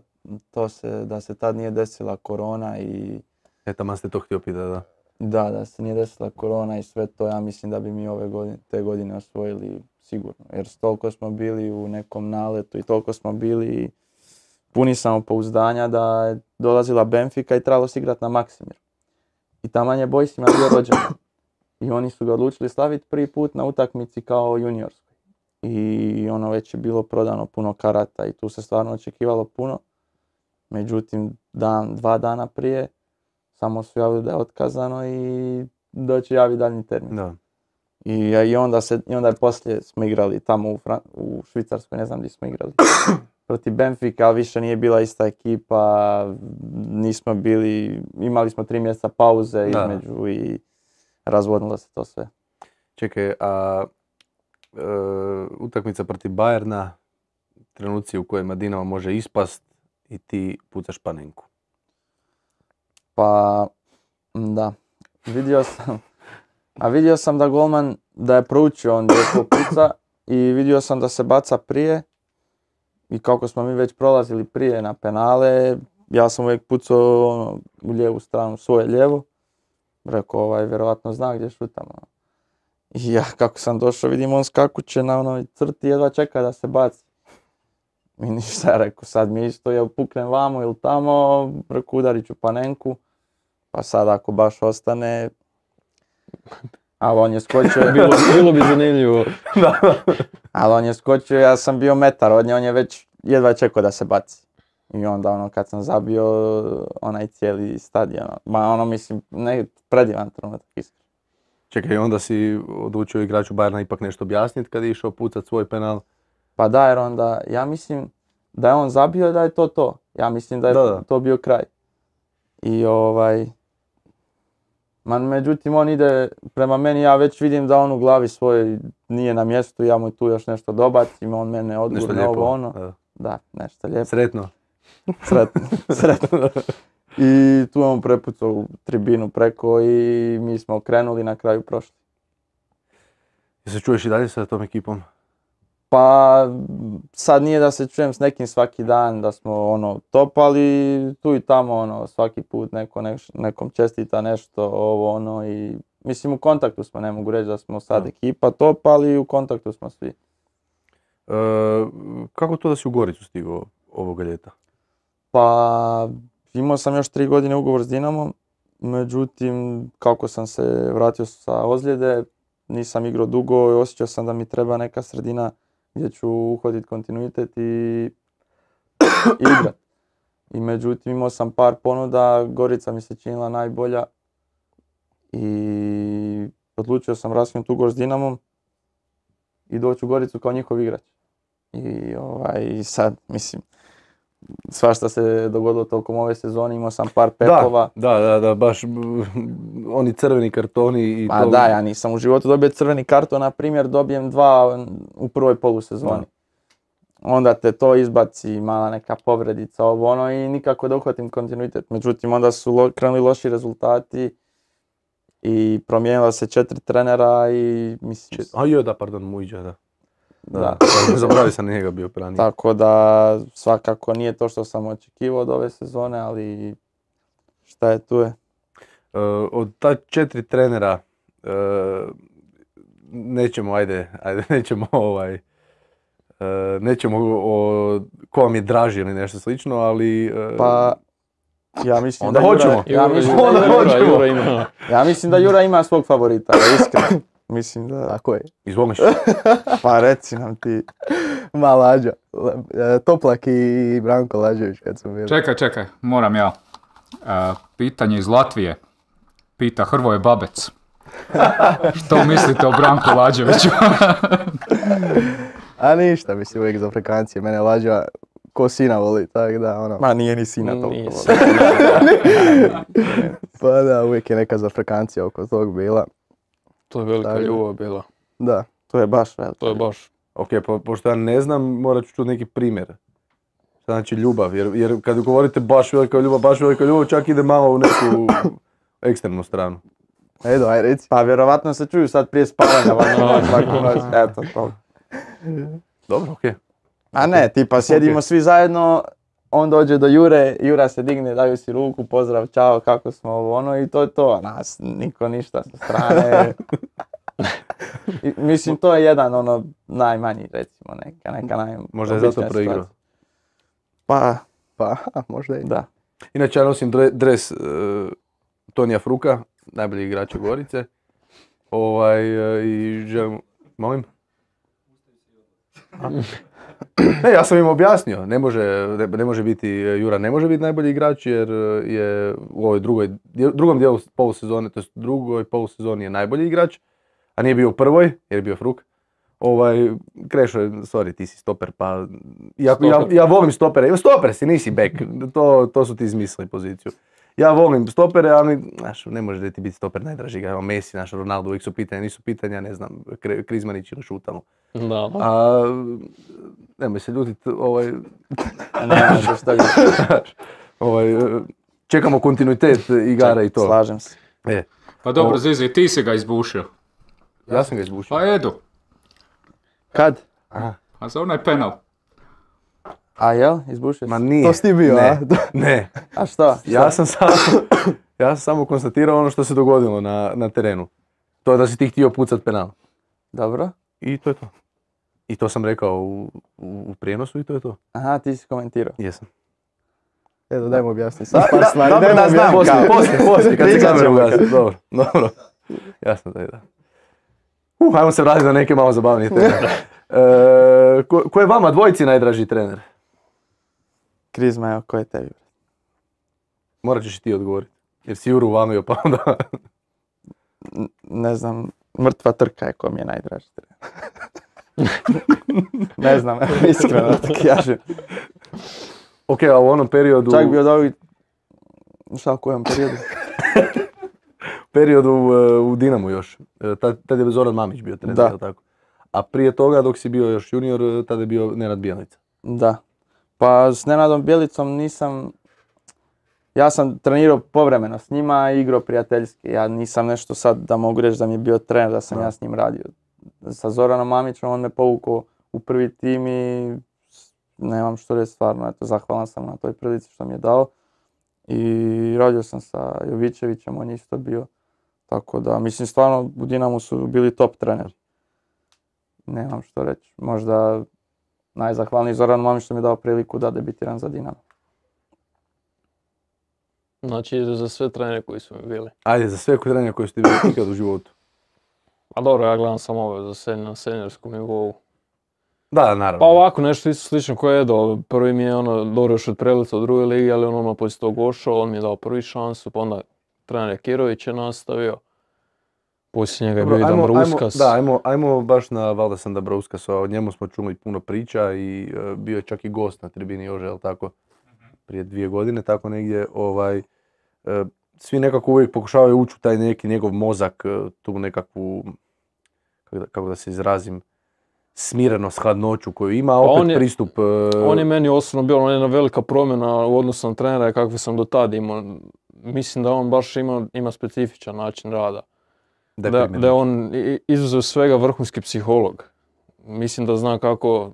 to se, da se tad nije desila korona i E, tamo ste to htio pitati, da. da, da se nije desila korona i sve to, ja mislim da bi mi ove godine, te godine osvojili sigurno. Jer toliko smo bili u nekom naletu i toliko smo bili puni samopouzdanja da je dolazila Benfica i trebalo se igrati na Maksimiru. I taman je Boysima bio rođendan. I oni su ga odlučili slaviti prvi put na utakmici kao juniorskoj. I ono već je bilo prodano puno karata i tu se stvarno očekivalo puno. Međutim, dan, dva dana prije samo su javili da je otkazano i da će javi daljnji termin. Da. I, i, onda se, I onda je poslije smo igrali tamo u, Fran- u Švicarskoj, ne znam gdje smo igrali. Protiv Benfica, ali više nije bila ista ekipa, nismo bili, imali smo tri mjeseca pauze Da. između i razvodnilo se to sve. Čekaj, a e, utakmica protiv Bayerna, trenuci u kojima Dinamo može ispast i ti pucaš panenku. Pa, da, vidio sam, a vidio sam da golman, da je proučio on gdje ko puca i vidio sam da se baca prije i kako smo mi već prolazili prije na penale, ja sam uvijek pucao ono, u lijevu stranu, svoje lijevo. Rekao, ovaj, vjerovatno zna gdje šutam. Ono. I ja kako sam došao, vidim on skakuće na onoj crti, jedva čeka da se baci. I ništa, rekao, sad mi isto, jel puknem vamo ili tamo, rekao, udarit ću panenku. Pa sad ako baš ostane, ali on je skočio, Bilo, bilo bi zanimljivo. ali on je skočio, ja sam bio metar od nje, on je već jedva čekao da se baci. I onda ono kad sam zabio onaj cijeli stadion, ma ono mislim, ne, predivan trenutak iskreno. Čekaj, onda si odlučio igraču Bayerna ipak nešto objasniti kad je išao pucat svoj penal. Pa da, jer onda, ja mislim da je on zabio da je to to. Ja mislim da je Da, da. to bio kraj. I ovaj, man, međutim on ide prema meni, ja već vidim da on u glavi svoj nije na mjestu, ja mu tu još nešto dobacim, on mene Nešto odgurne lijepo. ovo ono. Da. Da, nešto lijepo. Sretno. Sretno, sretno. I tu je on prepucao u tribinu preko i mi smo krenuli, na kraju prošli. I se čuješ i dalje sa tom ekipom? Pa sad nije da se čujem s nekim svaki dan, da smo ono top, ali tu i tamo ono svaki put neko neš, nekom čestita nešto, ovo ono i mislim u kontaktu smo, ne mogu reći da smo sad Da. ekipa top, ali u kontaktu smo svi. E, kako to da si u Goricu stigao ovoga ljeta? Pa imao sam još tri godine ugovor s Dinamom, međutim kako sam se vratio sa ozljede, nisam igrao dugo i osjećao sam da mi treba neka sredina gdje ću uhvatiti kontinuitet i igrat. I međutim imao sam par ponuda, Gorica mi se činila najbolja i odlučio sam raskinuti ugovor s Dinamom i doći u Goricu kao njihov igrač. I ovaj, sad, mislim, svašta se dogodilo tokom ove sezone, imao sam par pepova. Da, da, da, da, baš m, oni crveni kartoni i Ma to. da, ja nisam u životu dobio crveni karton, na primjer dobijem dva u prvoj polusezoni. Onda te to izbaci, mala neka povredica, ovo ono i nikako da uhvatim kontinuitet. Međutim, onda su lo, krenuli loši rezultati i promijenila se četiri trenera i mislim... A joj, da, pardon, Mujića, da. Da. Da, zaboravio sam na njega bio ranije. Tako da svakako nije to što sam očekivao od ove sezone, ali šta je tu je. E, od ta četiri trenera, e, nećemo, ajde, ajde, nećemo ovaj, e, nećemo o ko vam je draži ili nešto slično, ali... e, Pa ja mislim Onda da Jura, hoćemo. ja Jura, mislim Jura, da Jura, Jura, Jura ima. ja mislim da Jura ima svog favorita, iskreno. Mislim da... Tako je. Izvoliš. Pa reci nam ti. Ma Lađa. La- e, Toplak i Branko Lađević kad su bili. Čekaj, čekaj, moram ja. E, pitanje iz Latvije. Pita Hrvoje Babec. Što mislite o Branku Lađeviću? A ništa, mislim uvijek za Afrikancije. Mene Lađa ko sina voli, tako da ono. Ma nije ni sina toliko. Nije voli. Pa da, uvijek je neka za Afrikancija oko tog bila. To je velika Tako. ljubav bila. Da. To je baš veliko. To je baš. Ok, po, pošto ja ne znam, morat ću čuti neki primjer. Šta znači ljubav, jer, jer kad govorite baš velika ljubav, baš velika ljubav, čak ide malo u neku ekstremnu stranu. Edo, aj reci. Pa vjerovatno se čuju sad prije spavanja, ovako svaku noć, eto to. Dobro, okej. A ne, tipa sjedimo svi zajedno, on dođe do Jure, Jura se digne, daju si ruku, pozdrav, čao, kako smo, ovo ono i to je to. Nas niko ništa sa strane. I, mislim, to je jedan ono najmanji, recimo, neka, neka naj... Možda je zato običnija proigrao. situacija. Pa, Pa, aha, možda i. da. Inače, ja nosim dre- dres uh, Tonija Fruka, najbolji igrača Gorice. Ovaj, uh, i želim... Molim? A? Ne, ja sam im objasnio, ne može, ne, ne može biti, Jura ne može biti najbolji igrač jer je u ovoj drugoj, drugom dijelu polusezone, to jest drugoj polusezoni je najbolji igrač, a nije bio u prvoj jer je bio Fruk. Ovaj, Krešo, sorry, ti si stoper, pa ja, ja, ja volim stopere, stoper si, nisi back, to, to su ti izmislili poziciju. Ja volim stopere, ali znaš, ne može da ti biti stoper najdraži igrač, Messi, naš Ronaldo, uvijek su pitanja, nisu pitanja, ne znam, Krizmanić ili Šutalo. Da. A, nemoj se ljutiti, ovaj, Ne, što šta bi... ovaj, čekamo kontinuitet igara i to. Slažem se. E, Pa dobro, O- Zizi, ti si ga izbušio. ja sam ga izbušio. Pa Edu, Kad? Aha. a za onaj penal. A jel? Izbušio Ma si? nije. To si ti bio, ne, a? ne. A što? Ja sam samo, ja sam samo konstatirao ono što se dogodilo na, na terenu. To je da si ti htio pucat penal. Dobro. I to je to. I to sam rekao u, u, u prijenosu i to je to. Aha, ti si komentirao. Jesam. Edo, dajmo objasniti sad par stvari. dobro, Dajmo da znam. objasniti. Poslije, poslije, poslije, kad se Pričat kamera ćemo ugasi. kad. Dobro, dobro. Jasno da je da. Uh, ajmo se vratiti na neke malo zabavnije teme. E, ko, ko je vama dvojici najdraži trener? Krizma, evo, ko je tebi? Morat ćeš i ti odgovoriti. Jer si Juru uvamio pa onda... N- Ne znam, mrtva trka je ko mi je najdraži trener. Ne znam, evo, iskreno da ti kažem. Ok, a u onom periodu... Čak bi od ovih... Šta u kojem periodu? periodu uh, u Dinamu još. E, Tad, tad je Zoran Mamić bio trener, Da. jel tako? A prije toga dok si bio još junior, e, tada je bio Nenad Bijelica. Da. Pa s Nenadom Bjelicom nisam... Ja sam trenirao povremeno s njima i igrao prijateljski. Ja nisam nešto sad da mogu reći da mi je bio trener, da sam Da. ja s njim radio. Sa Zoranom Mamićem on me povukao u prvi tim i s- nemam što reći stvarno. Eto, zahvalan sam na toj prilici što mi je dao. I radio sam sa Jovićevićem, on je isto bio. Tako da, mislim stvarno u Dinamu su bili top treneri. Nemam što reći. Možda najzahvalniji Zoran Mamić što mi je dao priliku da debitiram za Dinamo. Znači za sve trenere koji su mi bili. Ajde, za sve trenere koje ste bili ikad u životu. A dobro, ja gledam samo ove za sen, na seniorskom nivou. Da, naravno. Pa ovako, nešto isto slično kao Edo. Prvi mi je ono, dobro još od Prelica u drugoj ligi, ali on ono poslije tog ošao, on mi je dao prvi šansu, pa onda trener Kirović je nastavio. Poslije njega je bio i Dobro, ajmo- Dambrauskas. ajmo- Da, ajmo, ajmo baš na Valdesa Dambrauskasa, o njemu smo čuli puno priča i e, bio je čak i gost na tribini Jože, jel tako? Prije dvije godine, tako negdje. Ovaj, e, svi nekako uvijek pokušavaju ući u taj neki njegov mozak, e, tu nekakvu, kako da, kako da se izrazim, smirenost, hladnoću koju ima, a Pa opet on je- pristup... e, On je meni osobno bio ono jedna velika promjena u odnosu na trenera kakve sam do tada imao. Mislim da on baš ima, ima specifičan način rada. da je Da, primjeren. da je on i- izuzev svega vrhunski psiholog. Mislim da zna kako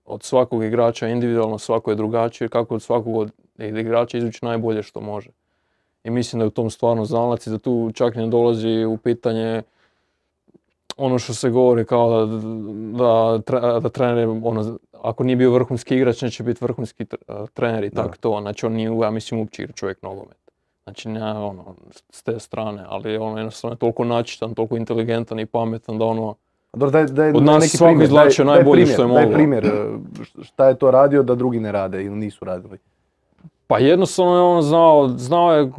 od svakog igrača individualno, svako je drugačije, kako od svakog od igrača izvući najbolje što može. I mislim da je u tom stvarno znalac i da tu čak ne dolazi u pitanje ono što se govori kao da, da, tre- da trener, ono, ako nije bio vrhunski igrač, neće biti vrhunski tr- trener i Da. tako to. Znači on nije, ja mislim, uopće igra čovjek nogomet. Znači ne, ono, s te strane, ali ono jednostavno je toliko načitan, toliko inteligentan i pametan da ono, Dobro, daj, daj, Od daj nas neki svako primjer, izvlačio daj- daj najbolje primjer, što je Daj moglo. primjer, e, šta je to radio da drugi ne rade ili nisu radili. pa jednostavno je on znao, znao je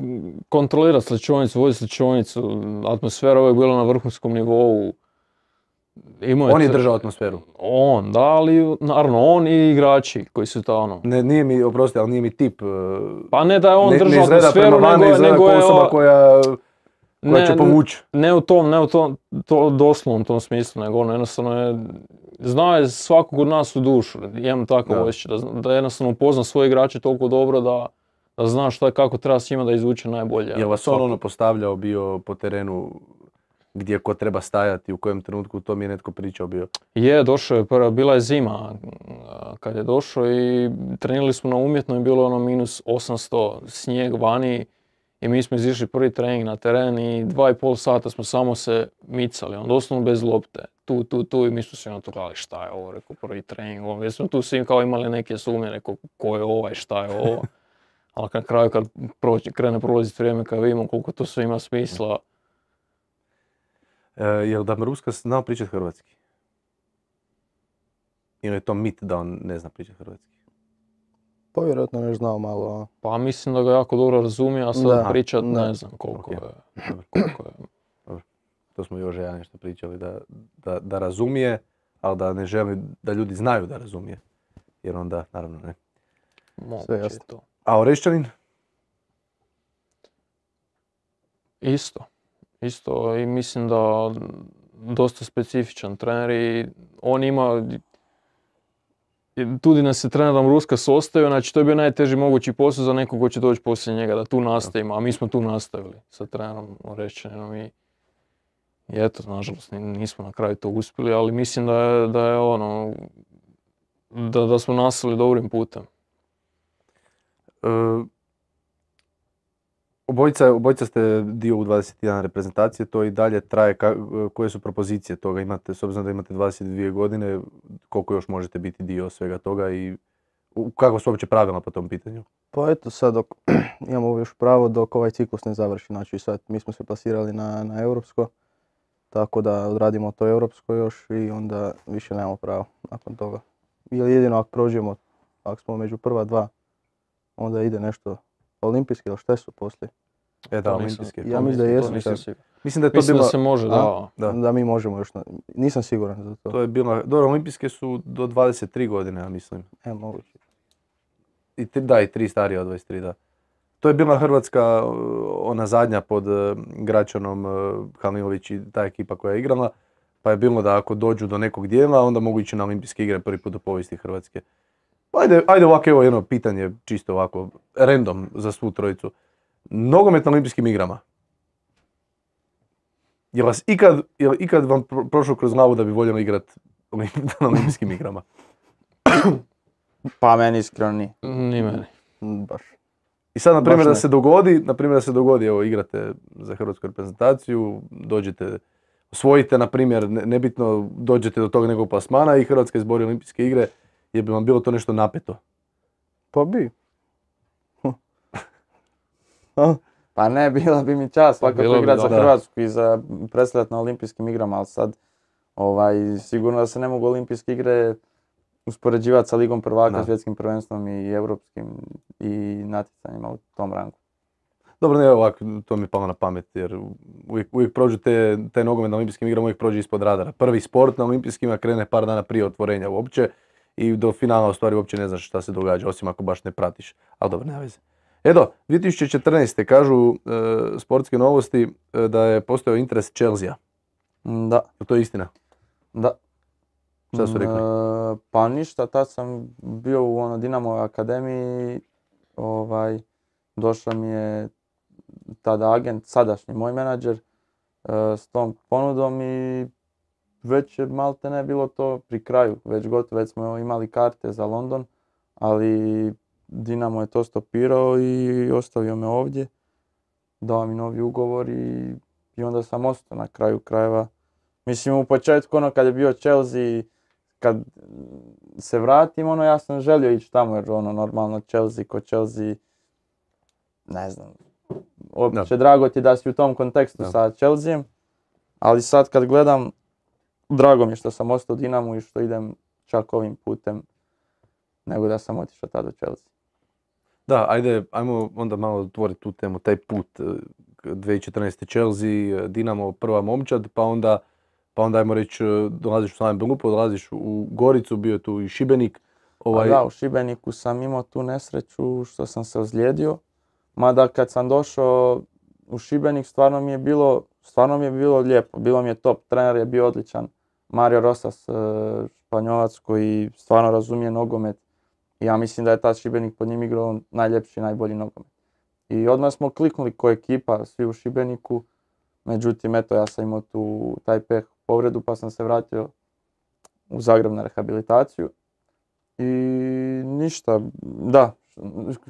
kontrolirati sličionicu, voditi sličionicu, atmosfera uvijek bila na vrhunskom nivou. Imao On je tr- držao atmosferu. On, da, ali naravno on i igrači koji su ta ono. Ne, nije mi, oprosti, ali nije mi tip. e, Pa ne da je on ne, ne držao izgleda atmosferu, prema van, ne nego, izgleda nego kao je osoba o- koja, koja ne, će povući. ne u tom, ne u tom to, doslovnom tom smislu, nego ono jednostavno je, znao je svakog od nas u dušu, imam takav Da. osjećaj, da, zna- da jednostavno upozna svoje igrače toliko dobro da, da zna šta, kako treba s njima da izvuče najbolje. Je vas on ono postavljao bio po terenu gdje ko treba stajati, u kojem trenutku, to mi je netko pričao bio? Je, došao je prva, bila je zima a, kad je došao i trenirali smo na umjetno i bilo je ono minus osamsto, snijeg vani i mi smo izišli prvi trening na teren i dva i pol sata smo samo se micali, on doslovno bez lopte, tu, tu, tu i mi smo se na to gledali šta je ovo, rekao prvi trening, ovo. Jer smo tu svi kao imali neke sumnje, rekao ko je ovaj, šta je ovo, ali na kraju kad proći, krene prolaziti vrijeme kad vidimo koliko to sve ima smisla. E, jel da Maruska znao pričati hrvatski? Ili je to mit da on ne zna pričati hrvatski? Pa vjerojatno ne znao malo. Pa mislim da ga jako dobro razumije, a sad Da, pričat da. ne znam koliko Ok. je. Dobro. Koliko je. To smo još ja nešto pričali, da, da, da razumije, ali da ne želi da ljudi znaju da razumije. Jer onda, naravno, ne. Moguće je jasno. to. A Orešćanin? Isto. Isto i mislim da dosta specifičan trener i on ima, tu di nas je trenerom Ruskas ostavio, znači to je bio najteži mogući posao za nekog ko će doći poslije njega, da tu nastavimo, a mi smo tu nastavili sa trenerom Orešćaninom i i eto, nažalost ni- nismo na kraju to uspjeli, ali mislim da je, da je ono, da, da smo nastavili dobrim putem. E, obojica, obojica ste dio u dvadeset jedan reprezentacije, to i dalje traje. Ka, koje su propozicije toga? Imate, s obzirom da imate dvadeset dvije godine, koliko još možete biti dio svega toga i u- kako su uopće pravila po tom pitanju? Pa eto sad dok imamo još pravo dok ovaj ciklus ne završi. Znači sad mi smo se plasirali na, na europsko. Tako da odradimo to europsko još i onda više nemamo pravo nakon toga. Ili jedino ako prođemo, ako smo među prva dva, onda ide nešto olimpijski ili šta su poslije. E da, To nisam- olimpijske. Ja to mislim da nisam- to jesu nisam sad. siguran. Mislim da je to Mislim bila, da se može, A? da. da, Da mi možemo još, na, nisam siguran za to. to je bila, dobro, olimpijske su do dvadeset tri godine, ja mislim. E, moguće. I tri, da, i tri starije od dvadeset tri, da. To je bila Hrvatska, uh, ona zadnja pod uh, Gračanom, uh, Halilović i ta ekipa koja je igrala, pa je bilo da ako dođu do nekog dijela, onda mogu ići na olimpijske igre prvi put u povijesti Hrvatske. Pa Ajde, ajde ovako, evo jedno pitanje, čisto ovako, random za svu trojicu. Nogomet na olimpijskim igrama. Je vas ikad, je li ikad vam pro- prošlo kroz glavu da bi voljeli igrati na olimpijskim igrama? Pa meni iskreno nije. Ni meni. Mm, Baš. I sad, na primjer, Baš da ne. se dogodi, na primjer, da se dogodi, evo, igrate za hrvatsku reprezentaciju, dođete, osvojite, na primjer, ne- nebitno, dođete do tog nekog plasmana i Hrvatska izbori olimpijske igre, je bi vam bilo to nešto napeto? Pa bi. A? Pa ne, bila bi mi čast svakako bilo bi, igrati za da. Hrvatsku i za predstavljati na olimpijskim igrama, ali sad ovaj, sigurno da se ne mogu olimpijske igre uspoređivati sa Ligom prvaka, Da. svjetskim prvenstvom i europskim i natjecanjima u tom rangu. Dobro, ne, ovako, to mi je palo na pamet, jer uvijek, uvijek prođu te, te nogomet na olimpijskim igrama, uvijek prođe ispod radara. Prvi sport na olimpijskima krene par dana prije otvorenja uopće i do finala u stvari uopće ne znaš šta se događa, osim ako baš ne pratiš. Ali dobro, nema veze. Edo, dvije tisuće četrnaeste. kažu e, sportske novosti e, da je postojao interes Chelsea. Mm, Da, Je to istina? da. Šta su rekli? Mm, e, Pa ništa, tad sam bio u ono Dinamovoj akademiji, ovaj, došao mi je tada agent, sadašnji moj menadžer, e, s tom ponudom i već je malte ne bilo to pri kraju, već gotovo, već smo imali karte za London, ali Dinamo je to stopirao i ostavio me ovdje, dao mi novi ugovor i, i onda sam ostao na kraju krajeva. Mislim, u početku ono kad je bio Chelsea, kad se vratim, ono ja sam želio ići tamo jer ono normalno Chelsea ko Chelsea, ne znam, opće drago ti da si u tom kontekstu Da. sa Chelseaem, ali sad kad gledam, drago mi je što sam ostao u Dinamu i što idem čak ovim putem, nego da sam otišao tada u Chelsea. Da, ajde, ajmo onda malo otvoriti tu temu, taj put, e, dvije tisuće četrnaeste. Chelsea, e, Dinamo, prva momčad, pa onda, pa onda ajmo reći, e, dolaziš u Slaven Belupo, dolaziš u Goricu, bio je tu i Šibenik. Ovaj... Da, u Šibeniku sam imao tu nesreću što sam se ozlijedio, mada kad sam došao u Šibenik stvarno mi je bilo, stvarno mi je bilo lijepo, bilo mi je top, trener je bio odličan, Mario Rosas, e, Španjolac koji stvarno razumije nogomet, I ja mislim da je tad Šibenik pod njim igrao najljepši i najbolji nogomet. I odmah smo kliknuli ko ekipa, svi u Šibeniku. Međutim, eto, ja sam imao tu taj peh povredu pa sam se vratio u Zagreb na rehabilitaciju. I ništa, da,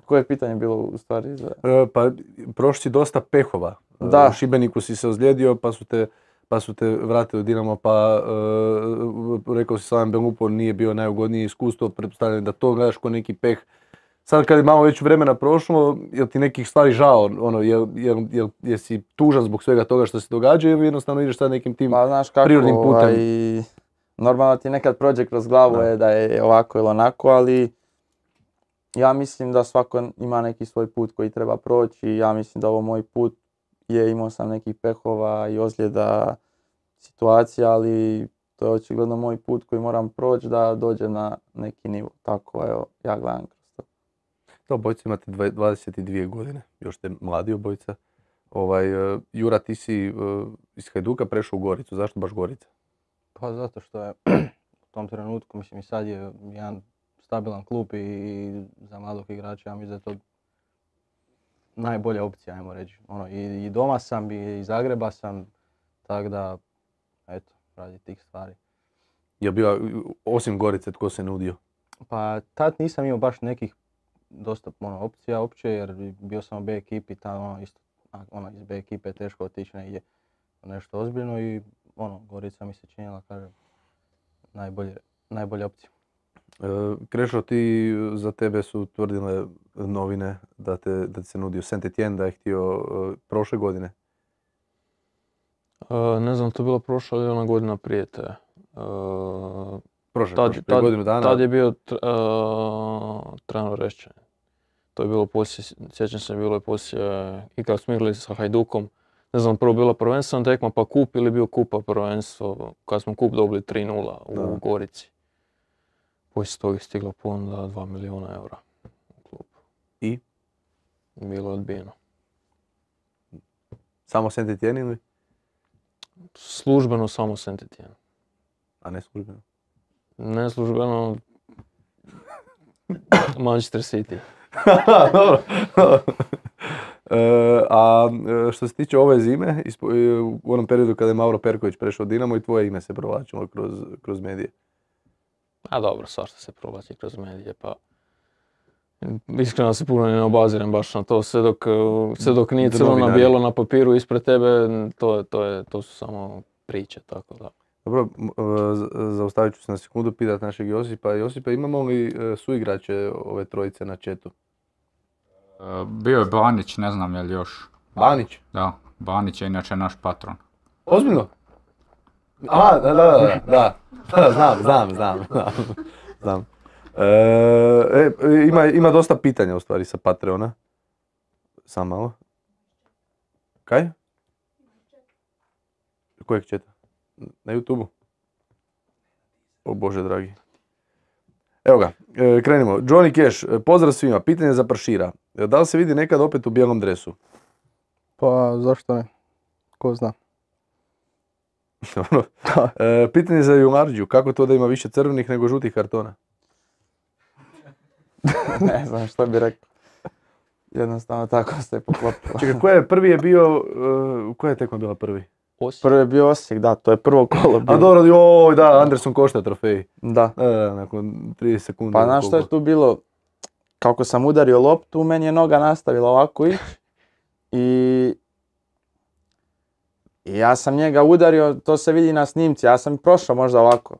koje pitanje bilo u stvari? Za... E, pa prošli si dosta pehova. Da. U Šibeniku si se ozlijedio pa su te, pa su te vratili u Dinamo, pa e, rekao si Slaven Belupo nije bio najugodnije iskustvo, pretpostavljam da to gledaš ko neki peh. Sad kad je malo već vremena prošlo, jel ti nekih stvari žao, ono, jel, jel, jel, jel si tužan zbog svega toga što se događa ili jednostavno ideš sad nekim tim Pa znaš kako, prirodnim putem? ovaj, normalno ti nekad prođe kroz glavu Da. je da je ovako ili onako, ali ja mislim da svako ima neki svoj put koji treba proći. Ja mislim da ovo moj put je, imao sam nekih pehova i ozljeda, situacija, ali to je očigledno moj put koji moram proći da dođem na neki nivo. Tako evo, ja gledam kroz to. To obojica imate dva- dvadeset dvije godine, još ste mladi obojica. Ovaj, uh, Jura, ti si uh, iz Hajduka prešao u Goricu, zašto baš Gorica? Pa zato što je u tom trenutku, mislim i sad je jedan stabilan klub i za mladog igrača, ja mislim da je to najbolja opcija, ajmo reći. Ono, i, i doma sam, i iz Zagreba sam, tako da, eto, radi tih stvari. Je bila, osim Gorice, tko se nudio? Pa tad nisam imao baš nekih dosta ono, opcija uopće, jer bio sam u B ekipi, tamo ono, isto, a, ono, iz B ekipe je teško otići negdje u nešto ozbiljno i ono, Gorica mi se činila, kažem, najbolje, najbolja opcija. E, Krešo, ti, za tebe su tvrdile novine da te, da ti se nudio Saint-Étienne, da je htio uh, prošle godine. E, ne znam, to je bila prošla ili ona godina prije te. E, Prošle, tad, prošle, prije tad, godinu dana. tad je bio tr, uh, Trano Rešće. To je bilo poslije, sjećam se, bilo je poslije, i kad smo igrali sa Hajdukom, ne znam, prvo bila prvenstvena tekma pa kup ili bio kupa prvenstvo, kad smo kup dobili tri nula u Da. Gorici. Poslije toga je stigla ponuda dva milijuna eura u klub. I? Bilo je odbijeno. Samo Saint-Étienne ili? Službeno samo Saint-Étienne. A ne službeno. Ne službeno Manchester City. Dobro. E, a e, što se tiče ove zime, ispo- e, u onom periodu kada je Mauro Perković prešao u Dinamo i tvoje ime se provlačilo kroz, kroz medije. A dobro, svašta se provlači kroz medije, pa iskreno se puno ne obazirem baš na to, sve dok, sve dok nije crno na Novinari. bijelo na papiru ispred tebe, to, je, to, je, to su samo priče, tako da. Dobro, m- e, z- zaustavit ću se na sekundu pitati našeg Josipa. Josipa, imamo li e, suigrače ove trojice na chatu? E, bio je Banić, ne znam je li još. Banić? Da, Banić je inače naš patron. Ozbiljno? A, da, da, da, da, da, znam, znam, znam, znam, znam. E, e, ima, ima dosta pitanja u stvari sa Patreona. Samo malo. Kaj? Kojeg četa? Na YouTubeu? O Bože dragi. Evo ga, e, krenimo. Johnny Cash, e, pozdrav svima, pitanje za Pršira. E, Da li se vidi nekad opet u bijelom dresu? Pa zašto ne? Ko zna? Dobro. E, pitanje za Jumarđiju, kako to da ima više crvenih nego žutih kartona? Ne znam što bi rekao. Jednostavno tako se poklopilo. Čekaj, koja je prvi je bio, uh, koja je tekma bila prvi? Osijek. Prvi je bio Osijek, da, to je prvo kolo bilo. A dobro, joj, da, Anderson košta trofej. Da. Da, da, nakon trideset sekundi. Pa znaš što je tu bilo? Kako sam udario loptu, meni je noga nastavila ovako ići. I... I ja sam njega udario, to se vidi na snimci, ja sam prošao možda ovako.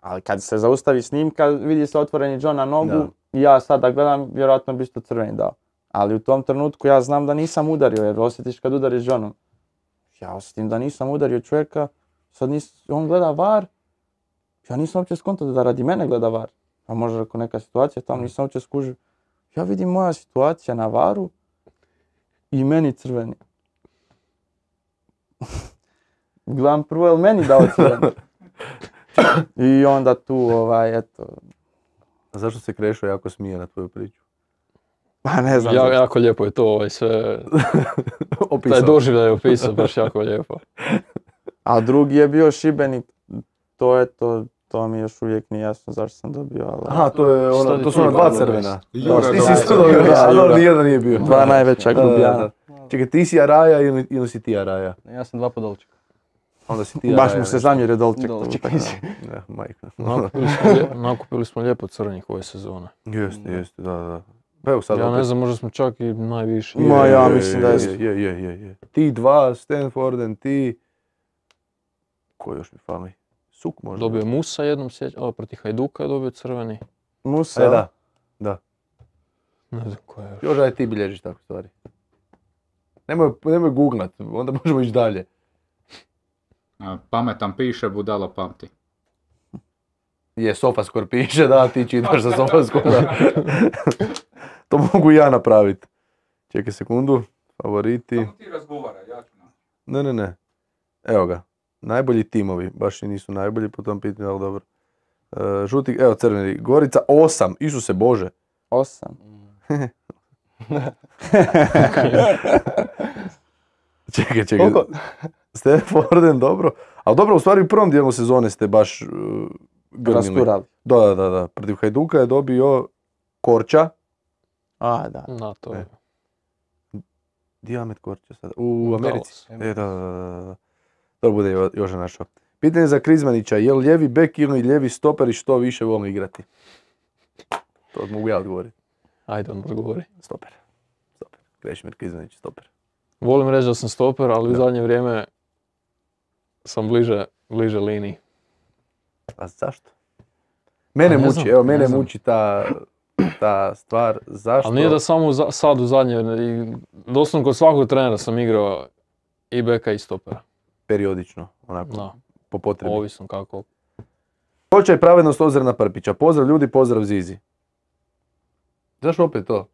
Ali kad se zaustavi snimka, vidi se otvoreni John na nogu Da. i ja sad da gledam, vjerojatno bi isto crveni dao. Ali u tom trenutku ja znam da nisam udario, jer osjetiš kad udariš Johnom. Ja osjetim da nisam udario čovjeka, sad nis, on gleda var, ja nisam uopće skontao da radi mene gleda var. A možda ako neka situacija tamo nisam uopće skužio. Ja vidim moja situacija na varu i meni crveni. Gledam prvo je li meni dao crveni. I onda tu ovaj, eto, A zašto se Krešo jako smije na tvoju priču? pa ne znam. Ja, zašto. jako lijepo je to, ovaj, sve, taj Opisao. doživljaj je opisao, baš jako lijepo. A drugi je bio Šibenik, to je to, To mi još uvijek nije jasno zašto sam dobio, ali... Aha, to, je Šta ono, ti to su ti ona dva dobro crvena. I Jura Ti dobio. si isto dobio, Da, da, Jura. ali nijedan nije bio. Dva najveća Da, da, glubijana. da. Čekaj, ti si Araja ili, ili si ti Araja? Ja sam dva podolčika. Onda si ti Araja. Baš mu se zamjerio Dolček. Dolček, tako da. nisi. Ne, majka. Nakupili smo, lije- nakupili smo lijepo crvenih ove sezone. Jeste, jeste, da, da. Pa evo sad Ja opet. ne znam, možda smo čak i najviše. Ma, ja mislim da je- Je, je, je, je. Ti dva, Stanforden, ti... Ko još mi fali? Suk možda? Dobio je Musa jednom sjećam, o, protiv Hajduka je dobio crveni. Musa, E, da, da. Ne znam ko je još. Još aj ti bilježiš tako stvari. Nemoj, nemoj googlat, onda možemo ići dalje. A, Pametan piše, budala pamti. Je, Sofaskor piše, da, ti čitaš za Sofaskora. To mogu i ja napraviti. Čekaj sekundu, favoriti. ti razgovaraj, ja ću Ne, ne, ne. Evo ga. Najbolji timovi, baš i nisu najbolji po tom pitanju, ali dobro. E, žuti, evo crveni, Gorica osam, Isuse Bože. osam. Čekaj, čekaj. Koliko? Stanforden, dobro. Ali dobro, u stvari u prvom dijelu sezone ste baš uh, grmili. Rasturali. Da, da, da, da. Protiv Hajduka je dobio Korča. A, da. Na to. E. Di je Ahmet Korča sada? U Americi. Dallas. E, da, da, da, da. To bude Jo- Joža našao. Pitanje za Krizmanića, je li lijevi bek ili lijevi stoper i što više volim igrati? To mogu ja odgovoriti. Ajde, on odgovori. Stoper. Stoper. Krešimir Krizmanić, stoper. Volim reći da sam stoper, ali u Da. zadnje vrijeme sam bliže, bliže liniji. A zašto? Mene A ne muči, znam, evo ne mene znam. muči ta, ta stvar. Zašto? Ali nije da samo u za- sad u zadnje, i doslovno kod svakog trenera sam igrao i beka i stopera. Periodično, onako, Da, po potrebi. ovisno kako. Hoće i pravednost Ozrena Prpića. Pozdrav ljudi, pozdrav Zizi. Zašto opet to?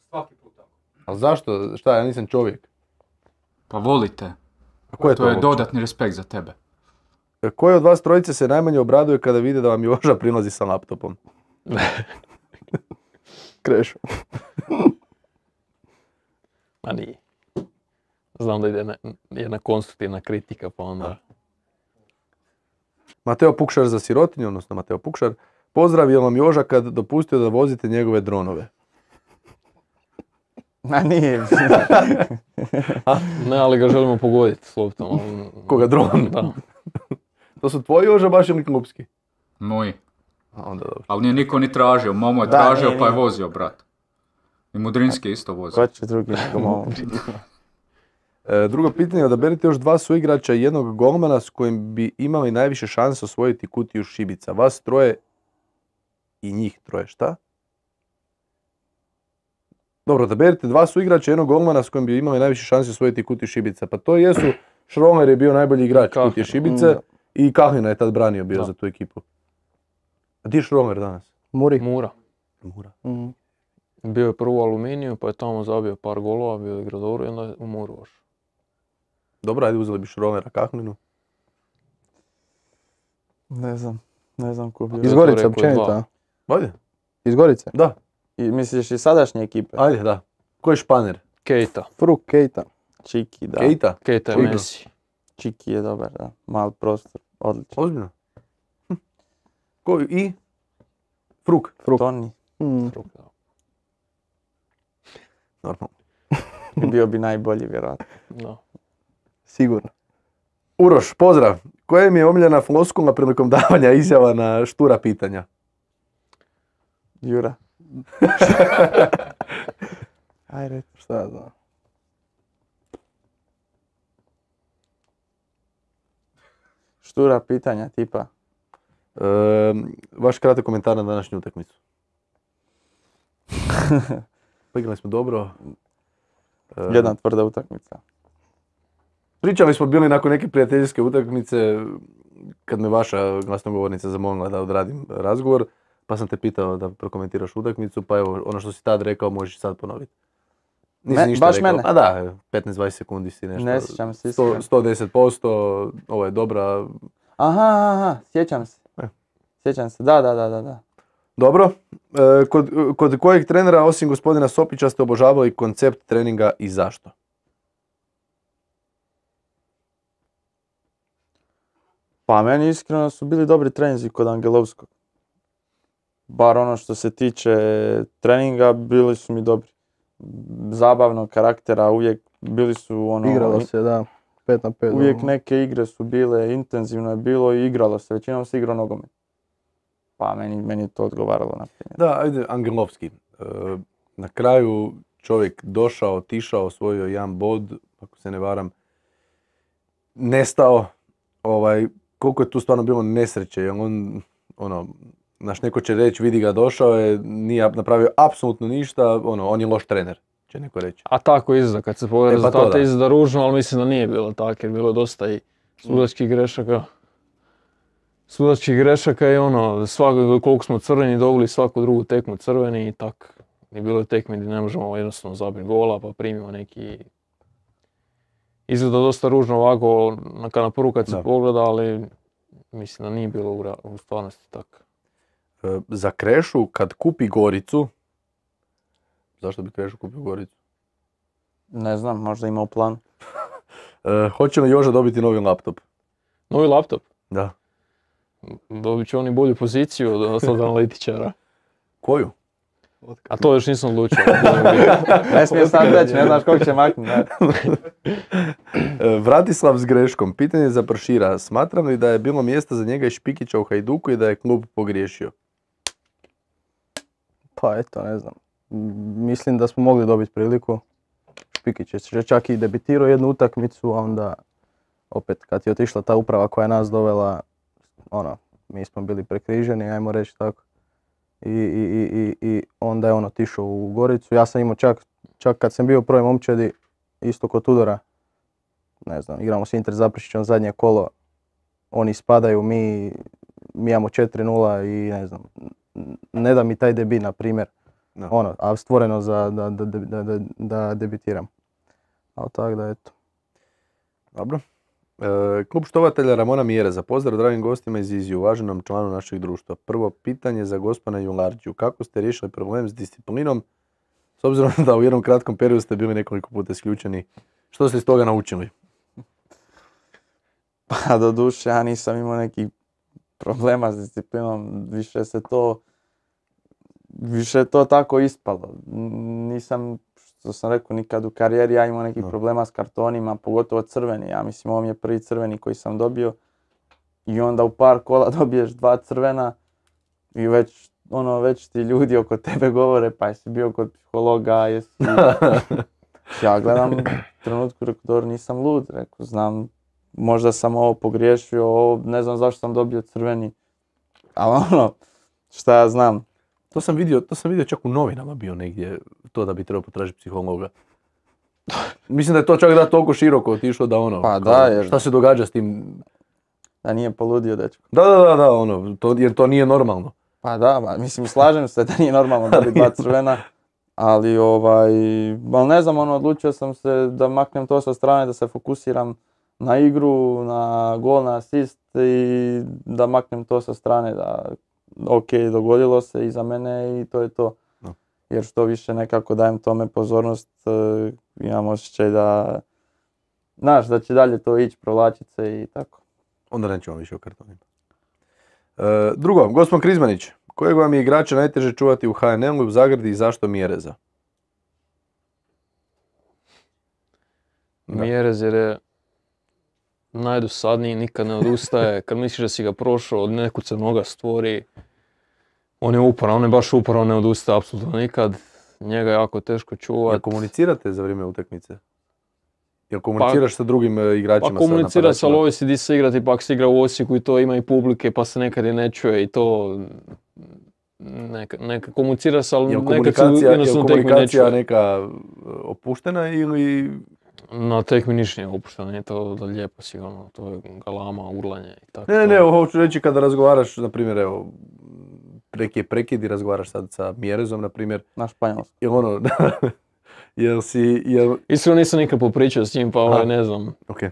Svaki put tako. Ali zašto? Šta, ja nisam čovjek. Pa volite. A ko je To to? je uopće? dodatni respekt za tebe. Koji od vas trojice se najmanje obraduje kada vide da vam Joža prilazi sa laptopom? Krešo. Ma nije. Znam da ide ne- jedna konstruktivna kritika, pa onda... Mateo Pukšar za sirotinju, odnosno Mateo Pukšar. Pozdrav, je vam Joža kad dopustio da vozite njegove dronove? Ma nije. Ne, ali ga želimo pogoditi s loptom. ali- Koga, dron? Da. To su tvoji Joža baš ili klubski? Moji. A, onda dobro. Ali nije niko ni tražio. Momo je Da, tražio nije, pa je nije. vozio, brat. I Mudrinski je isto vozio. Ko će drugi nego malo. E, drugo pitanje, odaberite još dva suigrača i jednog golmana s kojim bi imali najviše šanse osvojiti kutiju šibica. Vas troje i njih troje, šta? Dobro, odaberite dva suigrača i jednog golmana s kojim bi imali najviše šanse osvojiti kutiju šibica. Pa to jesu, Šromer je bio najbolji igrač Kahlin. kutije šibice Da. i Kahlina je tad branio bio Da. za tu ekipu. A di je Šromer danas? Muri. Mura. Mura. Mhm. Bio je prvo u Aluminiju, pa je tamo zabio par golova, bio je igrao dobro i onda je u Muru ošao. Dobro, ajde uzeli bi Šromera, Kahlinu. Ne znam. Ne znam ko bi... Iz- Iz to Gorice rekao općenito, dva. a? Ajde, Iz Gorice. da, I misliš i sadašnje ekipe? ajde, da. Ko je Španer? Keita. Fruk, Keita. Čiki, da. Keita? Keita je Čujno. Messi. Čiki je dobar, da. Mal prostor. Odlično. Ozbiljno. Hm. Ko i? Fruk. Fruk. Toni. Mhm. Fruk, da. Normalno. Bio bi najbolji, vjerojatno. Da. Sigurno. Uroš, pozdrav. Koja mi je omiljena floskula prilikom davanja izjava na štura pitanja? Jura. Ajde. Šta ja znam. Štura pitanja, tipa. E, vaš kratak komentar na današnju utakmicu. Pa igrali smo dobro. E, Jedna tvrda utakmica. Pričali smo bili nakon neke prijateljske utakmice kad me vaša glasnogovornica zamolila da odradim razgovor, pa sam te pitao da prokomentiraš utakmicu, pa evo ono što si tad rekao možeš sad ponoviti. Nisi Me- ništa baš rekao. mene? A da, petnaest dvadeset sekundi si nešto. Ne sjećam se sto, iskreno. sto deset posto, ovo je dobra. Aha, aha, sjećam se. E. Sjećam se, da, da, da, da. da. Dobro. E, kod, kod kojeg trenera osim gospodina Sopića ste obožavali koncept treninga i zašto? Pa meni iskreno su bili dobri treninzi kod Angelovskog. Bar ono što se tiče treninga, bili su mi dobri. Zabavnog karaktera, uvijek bili su ono... Igralo se, da, pet na pet. Uvijek neke igre su bile, intenzivno je bilo i igralo se, većinom se igrao nogomet. Pa meni, meni je to odgovaralo na primjer. Da, ajde, Angelovski. E, na kraju čovjek došao, otišao, osvojio jedan bod, ako se ne varam, nestao. Ovaj, koliko je tu stvarno bilo nesreće, jer on, ono, znaš, neko će reći, vidi ga, došao je, nije napravio apsolutno ništa, ono, on je loš trener, će neko reći. A tako izgleda, kad se pogleda E, pa to rezultate da. izgleda ružno, ali mislim da nije bilo tako, jer bilo je dosta i sudačkih grešaka. Sudačkih grešaka i ono, svako, koliko smo crveni dobili svaku drugu tekmu crveni i tak. I bilo je tekme gdje ne možemo jednostavno zabiti gola, pa primimo neki... Izgleda dosta ružno ovako, na, na prvu kad se Da. pogleda, ali mislim da nije bilo u, ra- u stvarnosti tako. E, za Krešu, kad kupi Goricu, zašto bi Krešu kupio Goricu? Ne znam, možda ima u planu. E, hoće li Joža dobiti novi laptop? Novi laptop, Da. dobit će oni bolju poziciju od, od analitičara. Koju? A to još nisam odlučio. Ne smije sad reći, ne znaš kog će maknuti. Ne. E, Vratislav s greškom. Pitanje za Pršira. Smatram li da je bilo mjesta za njega i Špikića u Hajduku i da je klub pogriješio? Pa eto, ne znam. M, Mislim da smo mogli dobiti priliku. Špikić je čak i debitirao jednu utakmicu, a onda opet kad je otišla ta uprava koja je nas dovela, ono, mi smo bili prekriženi, ajmo reći tako. I, i, i, i, i onda je on otišao u Goricu. Ja sam imao čak, čak kad sam bio u prvoj momčadi, isto kod Tudora, ne znam, igramo s Inter Zaprešićem zadnje kolo, oni ispadaju, mi, mi imamo četiri nula i ne znam, ne da mi taj debi, na primjer, Da. ono, a stvoreno za da, da, da, da, da debitiram. Ali tako da, eto. Dobro. E, klub štovatelja Ramona Mjereza. Pozdrav dragim gostima iz Iziju, uvaženom članu našeg društva. Prvo pitanje za gospana Jularđiju. Kako ste riješili problem s disciplinom? S obzirom da u jednom kratkom periodu ste bili nekoliko puta isključeni. Što ste iz toga naučili? Pa do duše, ja nisam imao nekih problema s disciplinom, više se to, više je to tako ispalo. N- Nisam, što sam rekao, nikad u karijeri ja imao nekih No. problema s kartonima, pogotovo crveni. Ja mislim, ovo mi je prvi crveni koji sam dobio. I onda u par kola dobiješ dva crvena i već, ono, već ti ljudi oko tebe govore, pa jesi bio kod psihologa, jesi... Ja gledam u trenutku, rekao, dobro, nisam lud, rekao, znam, možda sam ovo pogriješio, ovo, ne znam zašto sam dobio crveni, ali ono, šta ja znam. To sam vidio, to sam vidio čak u novinama bio negdje, to da bi trebao potražiti psihologa. Mislim da je to čak da toliko široko otišlo da ono, Pa kao, da, jer- šta se događa s tim? Da nije poludio dečko. Da, da, da, da, ono, to, jer to nije normalno. Pa da, ba, mislim, slažem se da nije normalno dobiti dva crvena, ali ovaj, ali ne znam, ono, odlučio sam se da maknem to sa strane, da se fokusiram na igru, na gol, na asist i da maknem to sa strane, da ok, dogodilo se i za mene i to je to. No. Jer što više nekako dajem tome pozornost, eh, imam osjećaj da, znaš, da će dalje to ići, provlačiti se i tako. Onda nećemo više o kartonima. E, drugo, gospodin Krizmanić, kojeg vam je igrača najteže čuvati u H N L-u, u Zagradi i zašto Mjereza? Da. Mjerez jer je najdosadniji, nikad ne odustaje. Kad misliš da si ga prošao, od nekud se noga stvori. On je uporan, on je baš uporan, ne odustaje apsolutno nikad. Njega je jako teško Jel čuvati. komunicirate za vrijeme utakmice? Jel komuniciraš sa drugim e, igračima? Pa sa komunicira se, ali napadačima? ovisi di se igrati, pa ako se igra u Osijeku i to ima i publike, pa se nekad i ne čuje i to... Neka, neka komunicira se, ali Jel nekad se komunikacija, jel jednostavno tekmi ne komunikacija čuje. neka e, opuštena ili... Na tekmi ništa nije opušteno, nije to da lijepo sigurno, to je galama, urlanje i tako. Ne, ne, to. ne, hoću reći kada razgovaraš, na primjer, evo, preki je prekid i razgovaraš sad sa Mjerezom, na primjer, Na španjolskom. jel ono, jel si, jel, Iskreno nisam nikad popričao s njim, pa ovaj, Aha. ne znam. ok.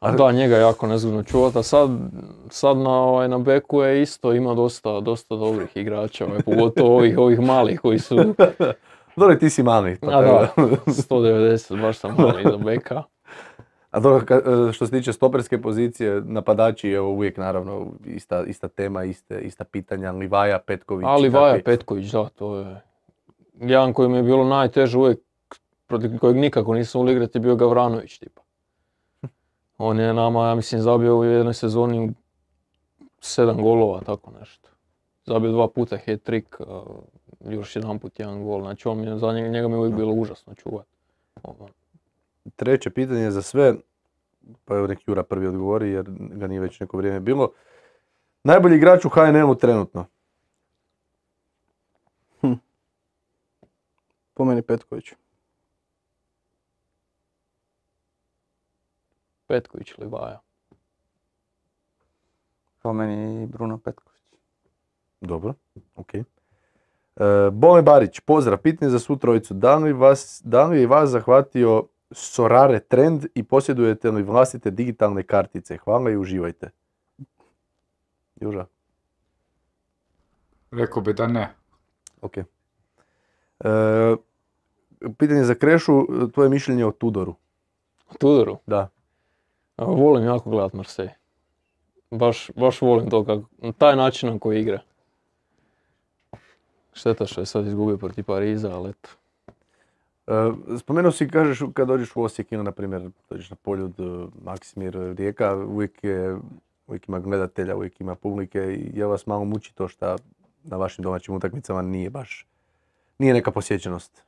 A da, njega je jako nezgodno čuvati, a sad, sad na, ovaj, na beku je isto, ima dosta, dosta dobrih igrača, ovaj, pogotovo ovih, ovih malih koji su, Dobro, ti si mali. pa a tako da, sto devedeset, baš sam mali za beka. A dobro, ka- što se tiče stoperske pozicije, napadači, evo uvijek naravno ista, ista tema, iste, ista pitanja, Livaja, Petković. Ali Vaja kakvi- Petković, da, to je jedan koji mi je bilo najteže uvijek, protiv kojeg nikako nisam volio igrati, je bio Gavranović, tipa. On je nama, ja mislim, zabio u jednoj sezoni sedam golova, tako nešto. Zabio dva puta hat-trick, a još jedan put jedan gol. Znači, on mi je, za njega, njega mi je uvijek bilo užasno čuvati. Ono, Treće pitanje za sve, pa evo nek Jura prvi odgovori jer ga nije već neko vrijeme bilo. Najbolji igrač u H N L-u trenutno? Po meni Petković. Petković ili Vaja. Po meni Bruno Petković. Dobro, ok. E, Bole Barić, pozdrav, pitanje za svu trojicu. Da li, vas, da li je vas zahvatio Sorare trend i posjedujete li vlastite digitalne kartice? Hvala i uživajte. Juža, Rekao bi da ne. ok. E, pitanje za Krešu, tvoje mišljenje o Tudoru? Tudoru. Da. A, volim jako gledat Marseille. Baš, baš volim to kako, na taj način na koji igra. Šteta što je sad izgubio protiv Pariza, ali eto. E, spomenuo si, kažeš, kad dođeš u Osijek ili, na primjer, dođeš na Poljud, e, Maksimir, Rijeka, uvijek, je, uvijek ima gledatelja, uvijek ima publike i je vas malo muči to što na vašim domaćim utakmicama nije baš, nije neka posjećenost.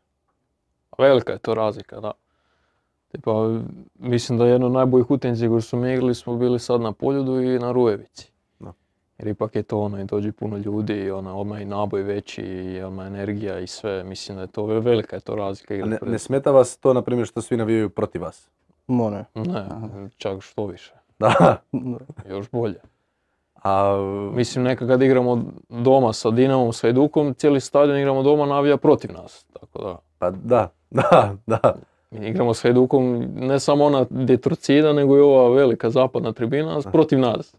Velika je to razlika, da. Tipa, mislim da jedno od najboljih utakmica koje su mi igrali smo bili sad na Poljudu i na Rujevici. Da. Jer ipak je to ono i dođe puno ljudi i ona, odmah i naboj veći i odmah energija i sve. Mislim da je to velika je to razlika. A igrati ne, pred- ne smeta vas to, na primjer, što svi navijaju protiv vas? More. Ne, čak što više. Da. Još bolje. A, Mislim, nekad kad igramo doma sa Dinamom, s Hajdukom, cijeli stadion igramo doma navija protiv nas. Tako da, pa da, da, da. mi igramo s Hajdukom ne samo ona detrocida, nego i ova velika zapadna tribina protiv nas.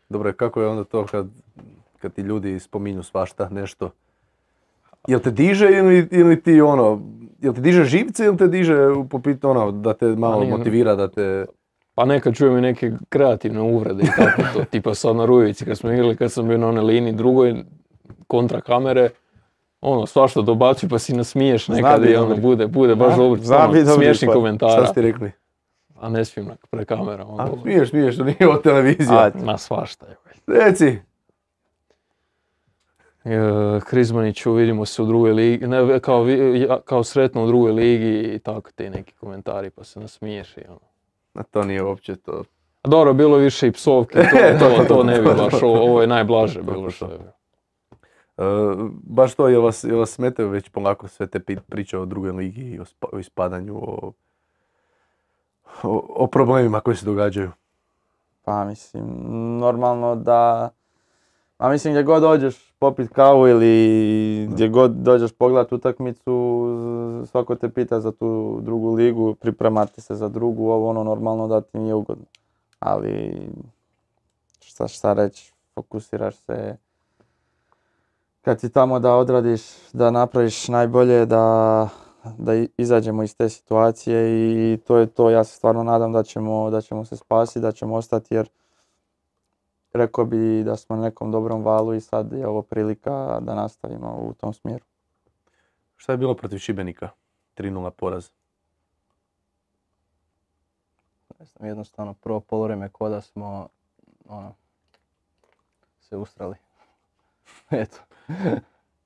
Dobro, kako je onda to kad, kad ti ljudi spominju svašta nešto? Jel te diže ili, ili ti ono, jel te diže živce ili te diže po pitanju ono, da te malo nije- motivira, da te... Pa nekad čujem i neke kreativne uvrede i tako to. Tipa sad na Rujevici kad smo igrali, kad sam bio na onoj liniji drugoj kontra kamere, ono svašta dobaci pa si nasmiješ nekad biti i ono dobri. bude, bude baš Da, dobro, zna ono, biti dobri smiješnih pa. komentara. Šta ste rekli? A ne smijem na- pred kamerama. A, ono. smiješ, smiješ, to nije od televizije. Ajde. Ma svašta. je. Reci. E, Krizmaniću, vidimo se u drugoj ligi, ne, kao, vi- ja- kao sretno u drugoj ligi i tako ti neki komentari pa se nasmiješ i ono. A to nije uopće to. A dobro, bilo je više i psovki, to, to, to ne bi baš, ovo, ovo je najblaže bilo što je. E, baš to, jel vas, jel vas smetaju već polako sve te pi- priče o drugoj ligi i o, spa- o ispadanju, o, o, o problemima koji se događaju? Pa mislim, normalno da, a mislim gdje god dođeš popit kavu ili gdje god dođeš pogledat utakmicu, svako te pita za tu drugu ligu, pripremati se za drugu, ovo ono normalno da ti nije ugodno. Ali šta, šta reći, fokusiraš se kad si tamo da odradiš, da napraviš najbolje, da, da i- izađemo iz te situacije i to je to. Ja se stvarno nadam da ćemo, da ćemo se spasiti, da ćemo ostati jer rekao bi da smo na nekom dobrom valu i sad je ovo prilika da nastavimo u tom smjeru. Šta je bilo protiv Šibenika? tri nula poraz. Ne znam, jednostavno prvo poluvreme ko da smo ono, se ustrali. Eto.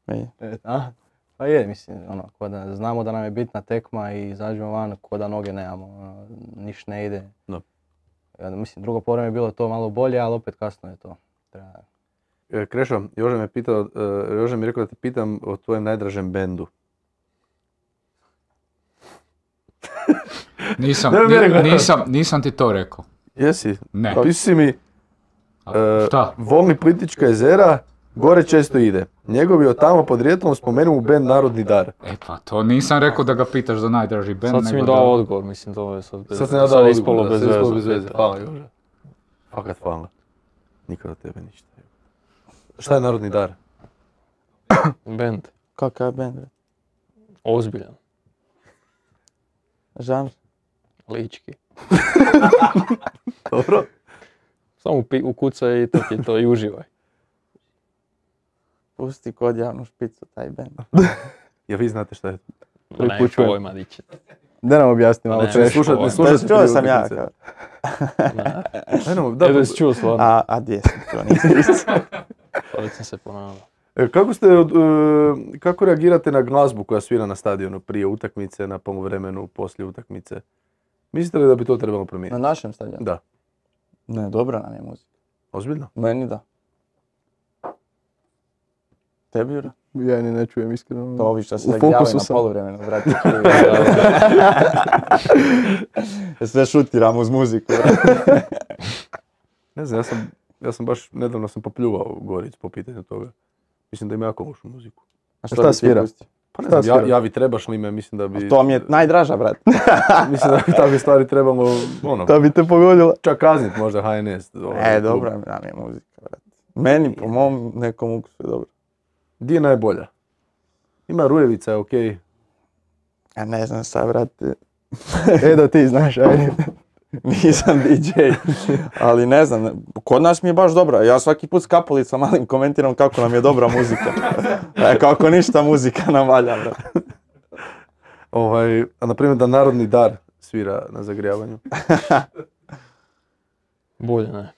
I Eto, a? Pa je, mislim, ono, ko da znamo da nam je bitna tekma i izađemo van, ko da noge nemamo, ono, niš ne ide. No. Ja, mislim, drugo poluvreme je bilo to malo bolje, ali opet kasno je to. Treba... E, Krešo, Jože me pitao, e, Jože mi je rekao da te pitam o tvojem najdražem bendu. Nisam, Ne, ne, ni- ne, ne. nisam, nisam ti to rekao. Jesi? Ne. Pisao si mi, A, e, šta? Volni Plitvička jezera, gore često ide. Njegovi od tamo podrijetlom spomenu u bend Narodni dar. E pa to nisam rekao da ga pitaš za najdraži band, Sad si mi nego dao da... odgovor, mislim to je sad bez, Sad sam ja dao je ispalo odgovor, da, bez sad je ispalo veze. bez veze. Hvala, Jože. Fakat hvala. Nikad od tebe ništa. Šta je Narodni dar? Band, kakav je bend? ozbiljan, Žanr? lički. Dobro. Samo pi- ukucaj i to ti je to i uživaj. Pusti kod javnu špicu taj band. Ja vi znate šta je to. Ma Prvi ne, put čujem. pojma, di će. Da nam objasni malo Ne, Ne češće. slušate, ne ovo. slušate Čuo prije sam ja. utakmice. kao. Ajmo, da, Da, da si čuo stvarno. A, a gdje sam to, nisam. Pa već sam se ponavljao. E, Kako ste, od- e, kako reagirate na glazbu koja svira na stadionu prije utakmice, na poluvremenu, poslije utakmice? Mislite li da bi to trebalo Na promijeniti? našem stadionu? Da. Ne, dobra nam je muzika. Ozbiljno? Meni da. Tebi, Jura? Ja ni ne čujem iskreno. To ovi što se U tak javaju fokusu na sam. poluvremenu, brate. Sve šutiram uz muziku, brate. Ne znam, ja sam, ja sam baš, nedavno sam popljuvao Goricu po pitanju toga. Mislim da ima jako lošu muziku. A Šta bi ti svira? pustio? Pa ne Šta znam, ja, svira? ja vi trebaš li me, mislim da bi... To mi je najdraža, brate. Mislim da bi takve stvari trebalo, ono, Da bi te pogodila. čak kaznit možda H N S. ovaj, E, klub. dobra nam je muzika, brate. Meni, po mom nekom ukusu je dobro. Di je najbolja? Ima Rujevica, je okej. Ja ne znam sad, brate. E da ti znaš, ajde. Nisam D J, ali ne znam, kod nas mi je baš dobra. Ja svaki put s Kapulicom malim komentiram kako nam je dobra muzika. E, kako ništa muzika nam valja, brate. Ovaj, a na primjer da Narodni dar svira na zagrijavanju. Bolje ne.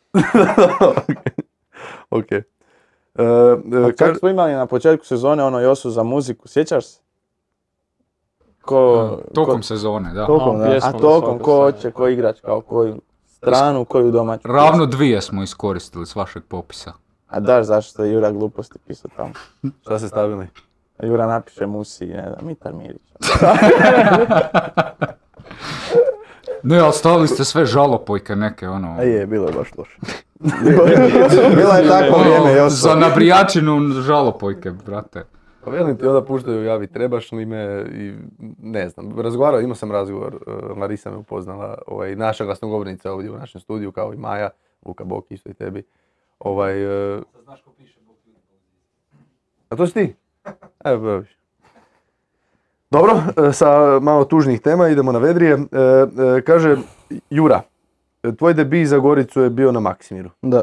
Ok. E, A e, Kako kaž- smo imali na početku sezone ono Josu za muziku, sjećaš se? Ko, Tokom ko- sezone, da. Tokom, da. pjesma a za tokom, svaku ko stranu. hoće, ko igrač, kao koju stranu, koju domaću. Ravno dvije smo iskoristili s vašeg popisa. A daš zašto je Jura gluposti pisao tamo. šta ste stavili? A Jura napiše Musi, ne znam, Mitar Mirić. Ne, ali stavili ste sve žalopojke neke, ono... A je, bilo je baš loše. Bilo je takvo ono, vrijeme, Joso. za nabrijačinu žalopojke, brate. Pa velim ti, onda puštaju javi trebaš li me i ne znam. Razgovarao, imao sam razgovor, uh, Larisa me upoznala, ovaj, naša glasnogovornica ovdje u našem studiju, kao i Maja, Vuka Bok isto i tebi. Ovaj, uh... A to si ti? Evo, baviš. Dobro, e, sa malo tužnih tema idemo na vedrije. E, e, kaže, Jura, tvoj debi za Goricu je bio na Maksimiru. Da.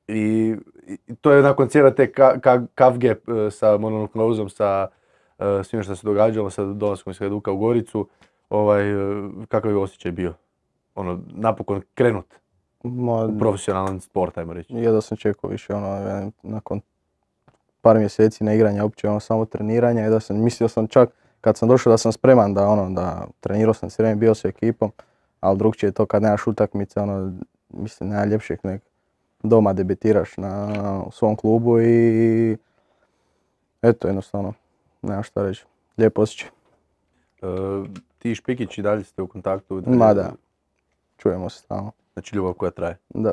I, i to je nakon cijele te ka, ka, kavge e, sa mononuklozom, sa e, svime što se događalo, sa dolaskom iz Hajduka u Goricu. Ovaj, e, kakav je osjećaj bio? Ono, napokon krenut Ma, u profesionalan sport, ajmo reći. jedva sam čekao više, ono, ja, nakon par mjeseci ne igranja, uopće ono, samo treniranja, i da sam, mislio sam čak kad sam došao da sam spreman da ono, da trenirao sam cijelo vrijeme, bio s ekipom, ali drugčije je to kad nemaš utakmice, ono, mislim, nema ljepšeg nek doma debitiraš na, u svom klubu i eto, jednostavno, nema šta reći, lijep osjećaj. E, ti i Špikić i dalje ste u kontaktu? Ma da, čujemo se stalno, Znači ljubav koja traje. da.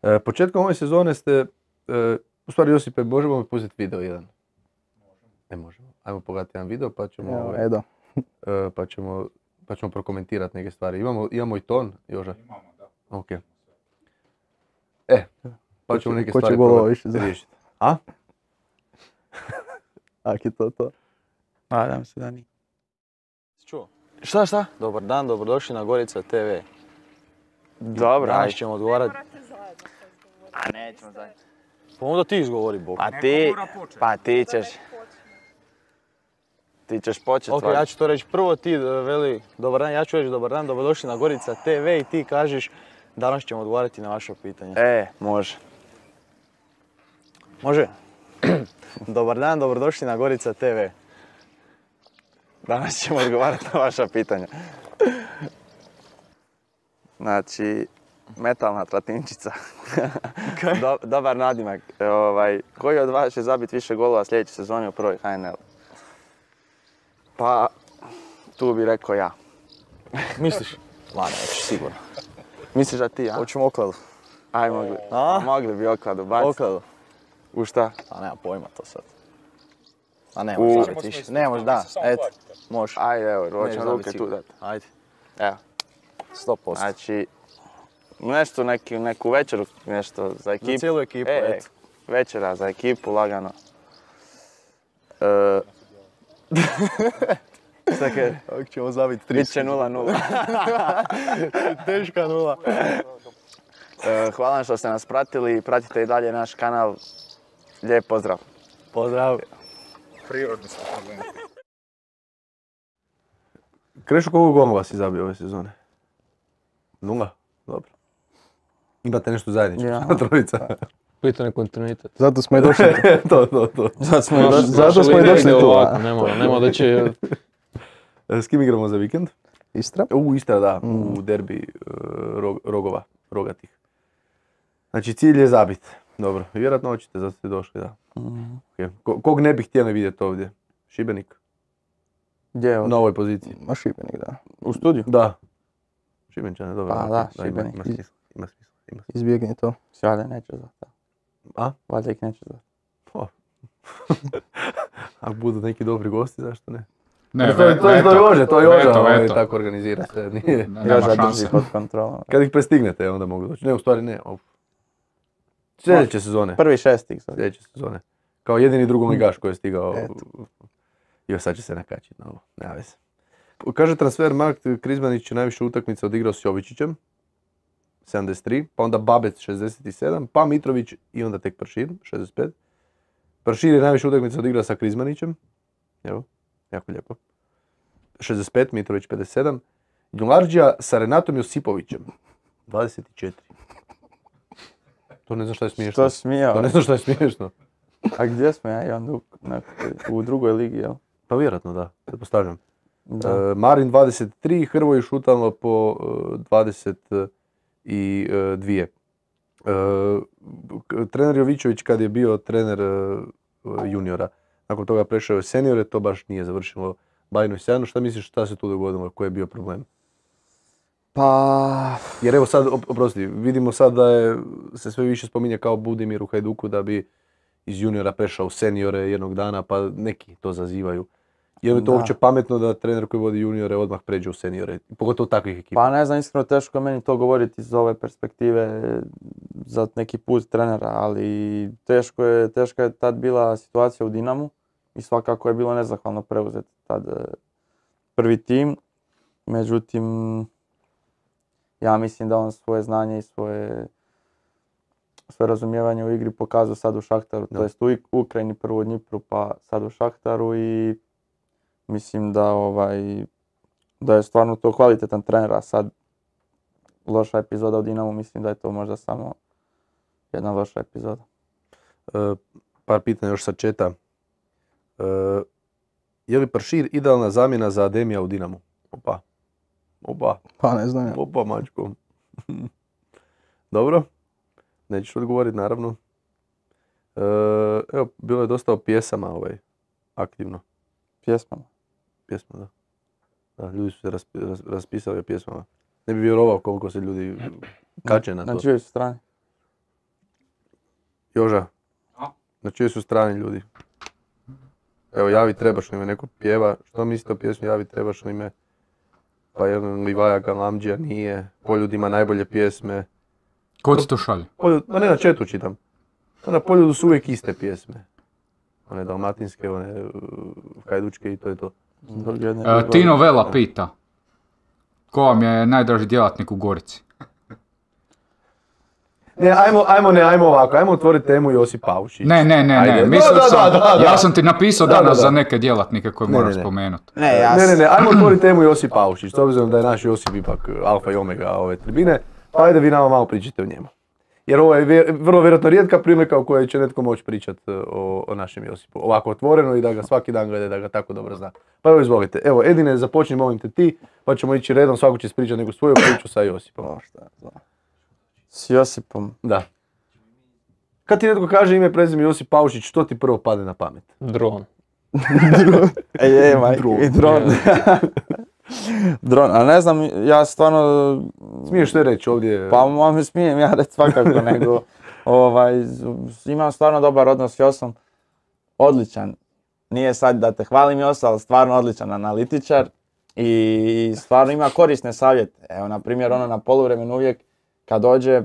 E, početkom ove sezone ste, e, u stvari Josipe, možemo mi pustiti video jedan? Ne možemo. Ajmo pogledati jedan video pa ćemo, Evo, ovaj, Edo. e, pa ćemo, pa ćemo prokomentirati neke stvari. Imamo, imamo i ton, Joža? Imamo, da. Ok. E, pa Ko ćemo će- neke ko će stvari golova probati više za- riješiti. A? Ak je to to. Nadam se da nije. Čuo? Šta, šta? Dobar dan, dobrodošli na Gorica te ve. Dobro, Danas ajde. ćemo odgovarati. A nećemo zajedno. Pa onda ti izgovori, Bog. Pa ti, pa ti ćeš, ti ćeš početi. Ok, ja ću to reći prvo, ti e, veli dobar dan, ja ću reći dobar dan, dobrodošli na Gorica te ve i ti kažeš danas ćemo odgovarati na vaše pitanje. E, može. Može? Dobar dan, dobrodošli na Gorica te ve. Danas ćemo odgovarati na vaša pitanja. Znači, metalna tratinčica. Do- dobar nadimak. E, Ovaj, koji od vas će zabiti više golova sljedeće sezone u prvoj H N L? Pa, tu bi rekao ja. Misliš? Ma neću, sigurno. Misliš da ti, a? Hoćemo okladu. Aj, mogli. A? Mogli bi okladu baciti. Okladu. U šta? A nema pojma to sad. A ne U- možeš zabiti više. Ne možeš, da, eto. Može. Ajde, evo, Nećeš hoćemo zabiti ruke tu sigurno. dati. Ajde, Evo, sto posto. znači, nešto, neki, neku večeru, nešto za ekipu. Za cijelu ekipu, E, eto. večera za ekipu, lagano. E, Sad kaže, Ako ćemo zabiti tri. bit će nula nula. Teška nula. E, Hvala vam što ste nas pratili, pratite i dalje naš kanal. Lijep pozdrav. Pozdrav. Prirodni smo problemi. Krešo, koliko golova si zabio ove sezone? Nula? Dobro. Imate nešto zajedničko, Ja. trojica? Pitanje kontinuitet. Zato smo i došli. to, to, to. Zato smo i Naš- došli. zato naša smo i linija došli ide tu, a? ovako, Nema, nema da će... E, S kim igramo za vikend? Istra? U Istra, da, Mm. u derbi e, rog- rogova, rogatih. Znači cilj je zabit. Dobro, vjerojatno hoćete, zato ste došli, da. Mhm. Ok. Ko- Kog ne bi htjeli vidjeti ovdje? Šibenik? Gdje je ovo? Na ovoj poziciji. Ma Šibenik, da. U studiju? Da. Šibenčane, dobro. Pa ok, da, ima- Šibenik. Ima smisla, ima smisla, ima smisla. Izbjegni to. Valjda neće zvati. A? Valjda ih neće zvati. Ako budu neki dobri gosti, zašto ne? Ne, to, je- to, je- to je Jože, to je Jože, veto, ovaj, veto. tako organizira se. Nije. Ne, nema Joža drži šanse. pod kontrolom. Kad ih prestignete, onda mogu doći. Ne, u stvari ne. Uf. Sljedeće sezone. Prvi šestih sad. Sljedeće sezone. Kao jedini drugoligaš koji je stigao. Eto. Jo, sad će se nakačiti na ovo. Nema veze. Kaže Transfermarkt, Krizmanić je najviše utakmica odigrao s Jovičićem. sedamdeset tri, pa onda Babec šezdeset sedam, pa Mitrović i onda tek Pršir, šezdeset pet. Pršir je najviše utakmica odigrao sa Krizmanićem. Evo, jako lijepo. šezdeset pet, Mitrović pedeset sedam. Đularđija sa Renatom Josipovićem. dvadeset četiri. To ne znam šta je smiješno. Što smijao? To ne znam šta je smiješno. A gdje smo ja i on u, nekoj- u drugoj ligi, jel? Pa vjerojatno da, pretpostavljam. Da. E, Marin dvadeset tri, Hrvoj šutalo po e, dvadeset dva. E, k- trener Jovićević kad je bio trener e, juniora, nakon toga prešao je seniore, to baš nije završilo bajno i sjajno. Šta misliš šta se tu dogodilo, koji je bio problem? Pa... Jer evo sad, op- oprosti, vidimo sad da je, se sve više spominje kao Budimir u Hajduku da bi iz juniora prešao u seniore jednog dana, pa neki to zazivaju. Je li to Da. uopće pametno da trener koji vodi juniore odmah pređe u seniore, pogotovo takvih ekipa? Pa ne znam, iskreno teško je meni to govoriti iz ove perspektive za neki put trenera, ali teško je, teška je tad bila situacija u Dinamu i svakako je bilo nezahvalno preuzeti tad e, prvi tim. Međutim, ja mislim da on svoje znanje i svoje, svoje razumijevanje u igri pokazao sad u Šahtaru, Da. to jest u Ik- Ukrajini, prvo u Dnipru pa sad u Šahtaru i mislim da ovaj da je stvarno to kvalitetan trener, a sad loša epizoda u Dinamu, mislim da je to možda samo jedna loša epizoda. E, par pitanja još sa četa. E, je li Pršir idealna zamjena za Ademija u Dinamu? Opa. Opa. Pa ne znam ja. Opa, mačko. Dobro. Nećeš odgovoriti, naravno. E, evo, bilo je dosta o pjesama ovaj, aktivno. Pjesmama. Pjesma, da. Da, ljudi su se raspi- ras- raspisali o pjesmama. Ne bi vjerovao koliko se ljudi kače na to. Na čijoj su strani? Joža, A? na čijoj su strani ljudi? Evo, Javi trebaš ime, neko pjeva. Što mislite o pjesmi Javi trebaš ime? Pa jedan Livaja Galamđija nije. Poljud ima najbolje pjesme. Ko ti to šalje? Poljud, ma ne na četu čitam. Pa na Poljudu su uvijek iste pjesme. One dalmatinske, one uh, hajdučke i to je to. Zbog jedne E, ljubavi. Tino Vela pita. Ko vam je najdraži djelatnik u Gorici? Ne, ajmo, ajmo, ne, ajmo ovako, ajmo otvoriti temu Josip Paušić. Ne, ne, ne, Ajde. ne. Da, Mislio da, sam, da, da, da. ja sam ti napisao Da, danas da, da. za neke djelatnike koje Ne, moraš ne, ne. spomenuti. Ne, ja Ne, ne, s- ne, ajmo otvoriti temu Josip Paušić, s obzirom da je naš Josip ipak alfa i omega ove tribine, pa ajde vi nama malo pričajte o njemu. Jer ovo je vjer- vrlo vjerojatno rijetka prilika u kojoj će netko moći pričati o, o našem Josipu. Ovako otvoreno i da ga svaki dan gleda, da ga tako dobro zna. Pa evo izvolite. Evo, Edine, započni molim te ti, pa ćemo ići redom, svako će ispričati neku svoju priču sa Josipom. Pa šta ja znam. s Josipom. Da. Kad ti netko kaže ime, prezime Josip Paušić, što ti prvo padne na pamet? Dron. E, je, maj, Dron. i dron. Dron, a ne znam, ja stvarno... Smiješ sve reći ovdje? Pa ma mi smijem ja reći svakako, nego ovaj, z- imam stvarno dobar odnos s Josom, odličan. Nije sad da te hvalim Josa, ali stvarno odličan analitičar i stvarno ima korisne savjete. Evo, na primjer, ono na poluvremenu uvijek kad dođe,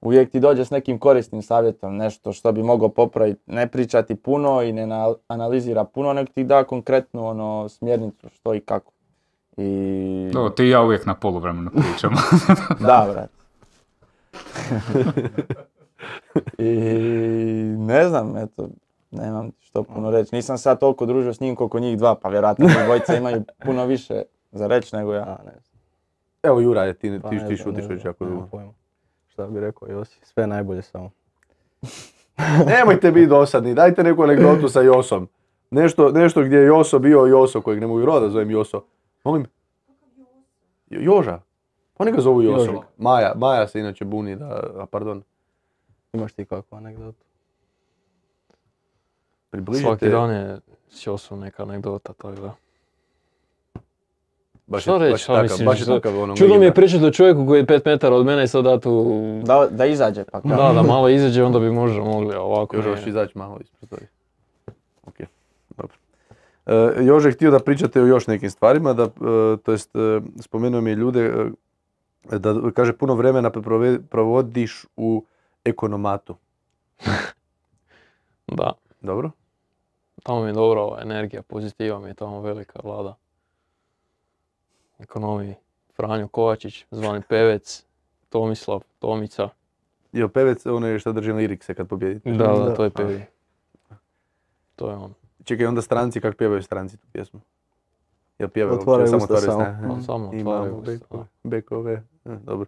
uvijek ti dođe s nekim korisnim savjetom, nešto što bi mogao popraviti, ne pričati puno i ne na- analizira puno, nego ti da konkretnu ono, smjernicu što i kako. I... Dobro, ti i ja uvijek na poluvremenu pričamo. Da, brat. I ne znam, eto, nemam što puno reći. Nisam sad toliko družio s njim koliko njih dva, pa vjerojatno njih dvojica imaju puno više za reći nego ja. A, ne znam. Evo Jura, je, ti, Pa ti, ne ti znam, šutiš ne već znam, jako nemam dugo. pojma. Šta bi rekao Josi, sve najbolje samo. Nemojte biti dosadni, dajte neku anegdotu sa Josom. Nešto, nešto gdje je Joso bio Joso, kojeg ne mogu vjerovati da zovem Joso. Molim? Jo- Joža. Oni ga zovu Joso. Jožik. Maja, Maja se inače buni da, a pardon, Imaš ti kakvu anegdotu? približite. Svaki dan je s Josom neka anegdota, tako da. Baš Što je, reći, baš je šta takav, misliš, baš je što- takav ono Čudno mi je igra. pričati o čovjeku koji je pet metara od mene i sad da tu... Da, da izađe pa kao. Da, da malo izađe, onda bi možda mogli, a ovako Joža, nije. hoćeš izaći malo iz prostorije. Ok, dobro. E, Jože je htio da pričate o još nekim stvarima, da, e, to jest e, spomenuo mi je ljude, e, da kaže puno vremena prove- provodiš u ekonomatu. Da, Dobro? tamo mi je dobra ova energija, pozitiva mi je tamo velika vlada. Ekonomiji, Franjo Kovačić, zvani Pevec, Tomislav, Tomica. Jel pevec onaj što držim lirikse kad pobjedite? Da, da, Da. to je Pevi. To je on. Čekaj, onda stranci, kako pjevaju stranci tu pjesmu? Jel pjevaju uopće? Otvaraju Samo usta otvaraju samo. strane? On samo otvaraju Imamo usta, bekove, bekove. E, dobro.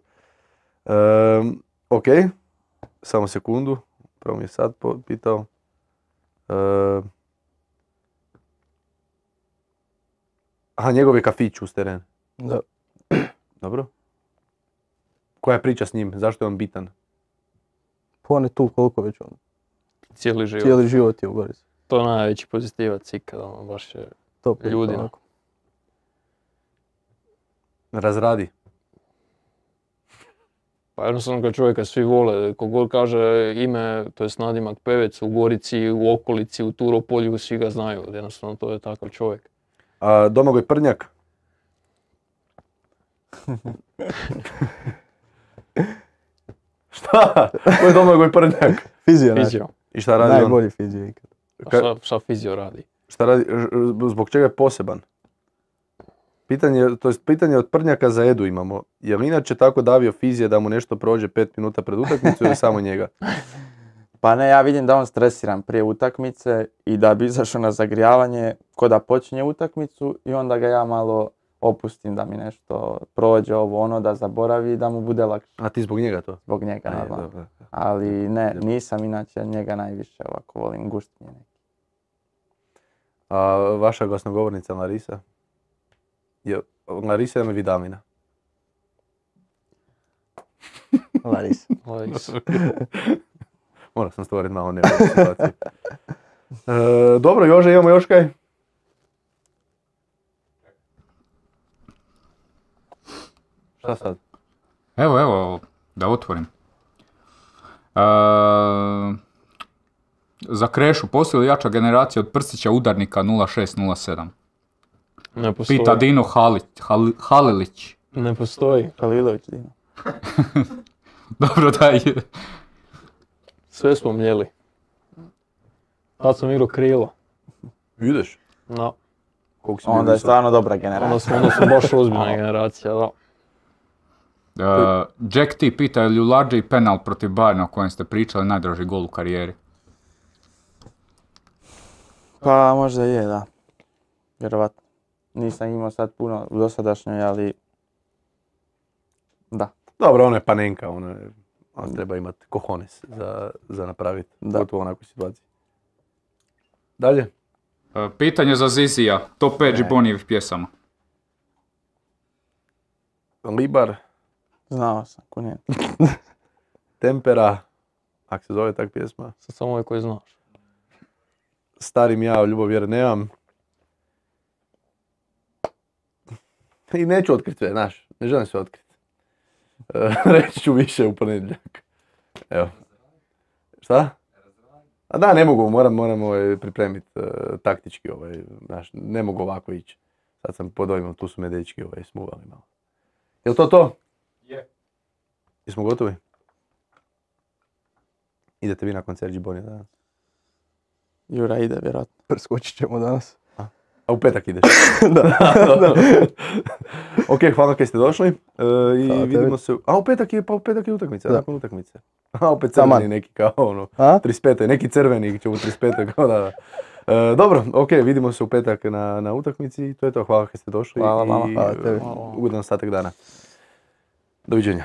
Ehm, ok, samo sekundu. Prvo mi je sad po- pitao. Ehm, aha, njegov je kafić uz teren. Da. Dobro. Koja je priča s njim? Zašto je on bitan? Pa on je tu koliko već on. Cijeli život. Cijeli život je u Gorici. To je najveći pozitivac ikada, ono, baš je Top je Ljudina. onako. Razradi. Pa jednostavno kad čovjeka svi vole, kogod kaže ime, to je nadimak Pevec u Gorici, u okolici, u Turopolju, svi ga znaju, jednostavno to je takav čovjek. A Domagoj Prnjak? Šta? Ko je Domagoj Prnjak? Fizio, naš. Fizio. I šta radi on? Najbolji fizio ikad. A Ka- šta, šta fizio radi? Šta radi, ž- zbog čega je poseban? Pitanje, to jest pitanje od Prnjaka za Edu imamo. Je li inače tako davio fizije da mu nešto prođe pet minuta pred utakmicu ili samo njega? Pa ne, ja vidim da on stresiran prije utakmice i da bi izašao na zagrijavanje ko da počinje utakmicu i onda ga ja malo opustim da mi nešto prođe ovo ono, da zaboravi i da mu bude lakše A ti zbog njega to? zbog njega A, je, normalno. dobro. Ali ne, nisam inače njega najviše ovako volim, guštinje neki. A vaša glasnogovornica Larisa? Je, Larisa ili Vidalina? Laris. Lajs. Morao sam stvoriti malo neugodnu situaciju. E, dobro, Jože, imamo još kaj? Šta sad? Evo, evo, da otvorim. E, za Krešu, postoji li jača generacija od prstića udarnika nula šest nula sedam? Ne postoji. Pita Dino Halić, Hal- Halilić. Ne postoji. Halilović, Dino. Dobro, daj. Sve smo mljeli. Tad sam igrao krilo. Ideš? No, Koliko si Onda bio je visok? stvarno dobra generacija. onda smo, onda smo baš ozbiljna generacija, da. E, Jack T pita je li u Larđe penal protiv Bayerna o kojem ste pričali najdraži gol u karijeri? Pa možda je, da. Vjerovatno. Nisam imao sad puno u dosadašnjoj, ali da. Dobro, ono je panenka, ono je, on treba imati cojones za, za napraviti, Da. gotovo u onakvoj situaciji. Dalje? E, pitanje za Zizija, top pet Gibonijevih pjesama. Libar, Znao sam, ko nije. Tempera, ako se zove tak pjesma, Sad samo ovaj koji znaš. Starim ja, ljubav jer nemam. I neću otkriti sve, znaš, ne želim sve otkriti. E, reći ću više u ponedjeljak. Evo. Šta? A da, ne mogu, moram, moram ovaj, pripremiti e, taktički, ovaj, znaš, ne mogu ovako ići. Sad sam pod ovim, tu su me dečki ovaj, smuvali malo. Jel to to? Je. Jesmo gotovi? Idete vi nakon Serđi Bonija danas? Jura ide vjerojatno. Preskočit ćemo danas. A u petak ideš? Da, da. Ok, hvala kaj ste došli. E, I Hvala vidimo tebi. se... A u petak je, pa u petak je utakmica, Da. nakon utakmice. A opet Taman. crveni neki kao ono, A? trideset pete neki crveni će u trideset pete kao da, da. E, dobro, ok, vidimo se u petak na, na utakmici i to je to. Hvala kaj ste došli Hvala vama. i Hvala tebi. ugodan ostatak dana. Doviđenja.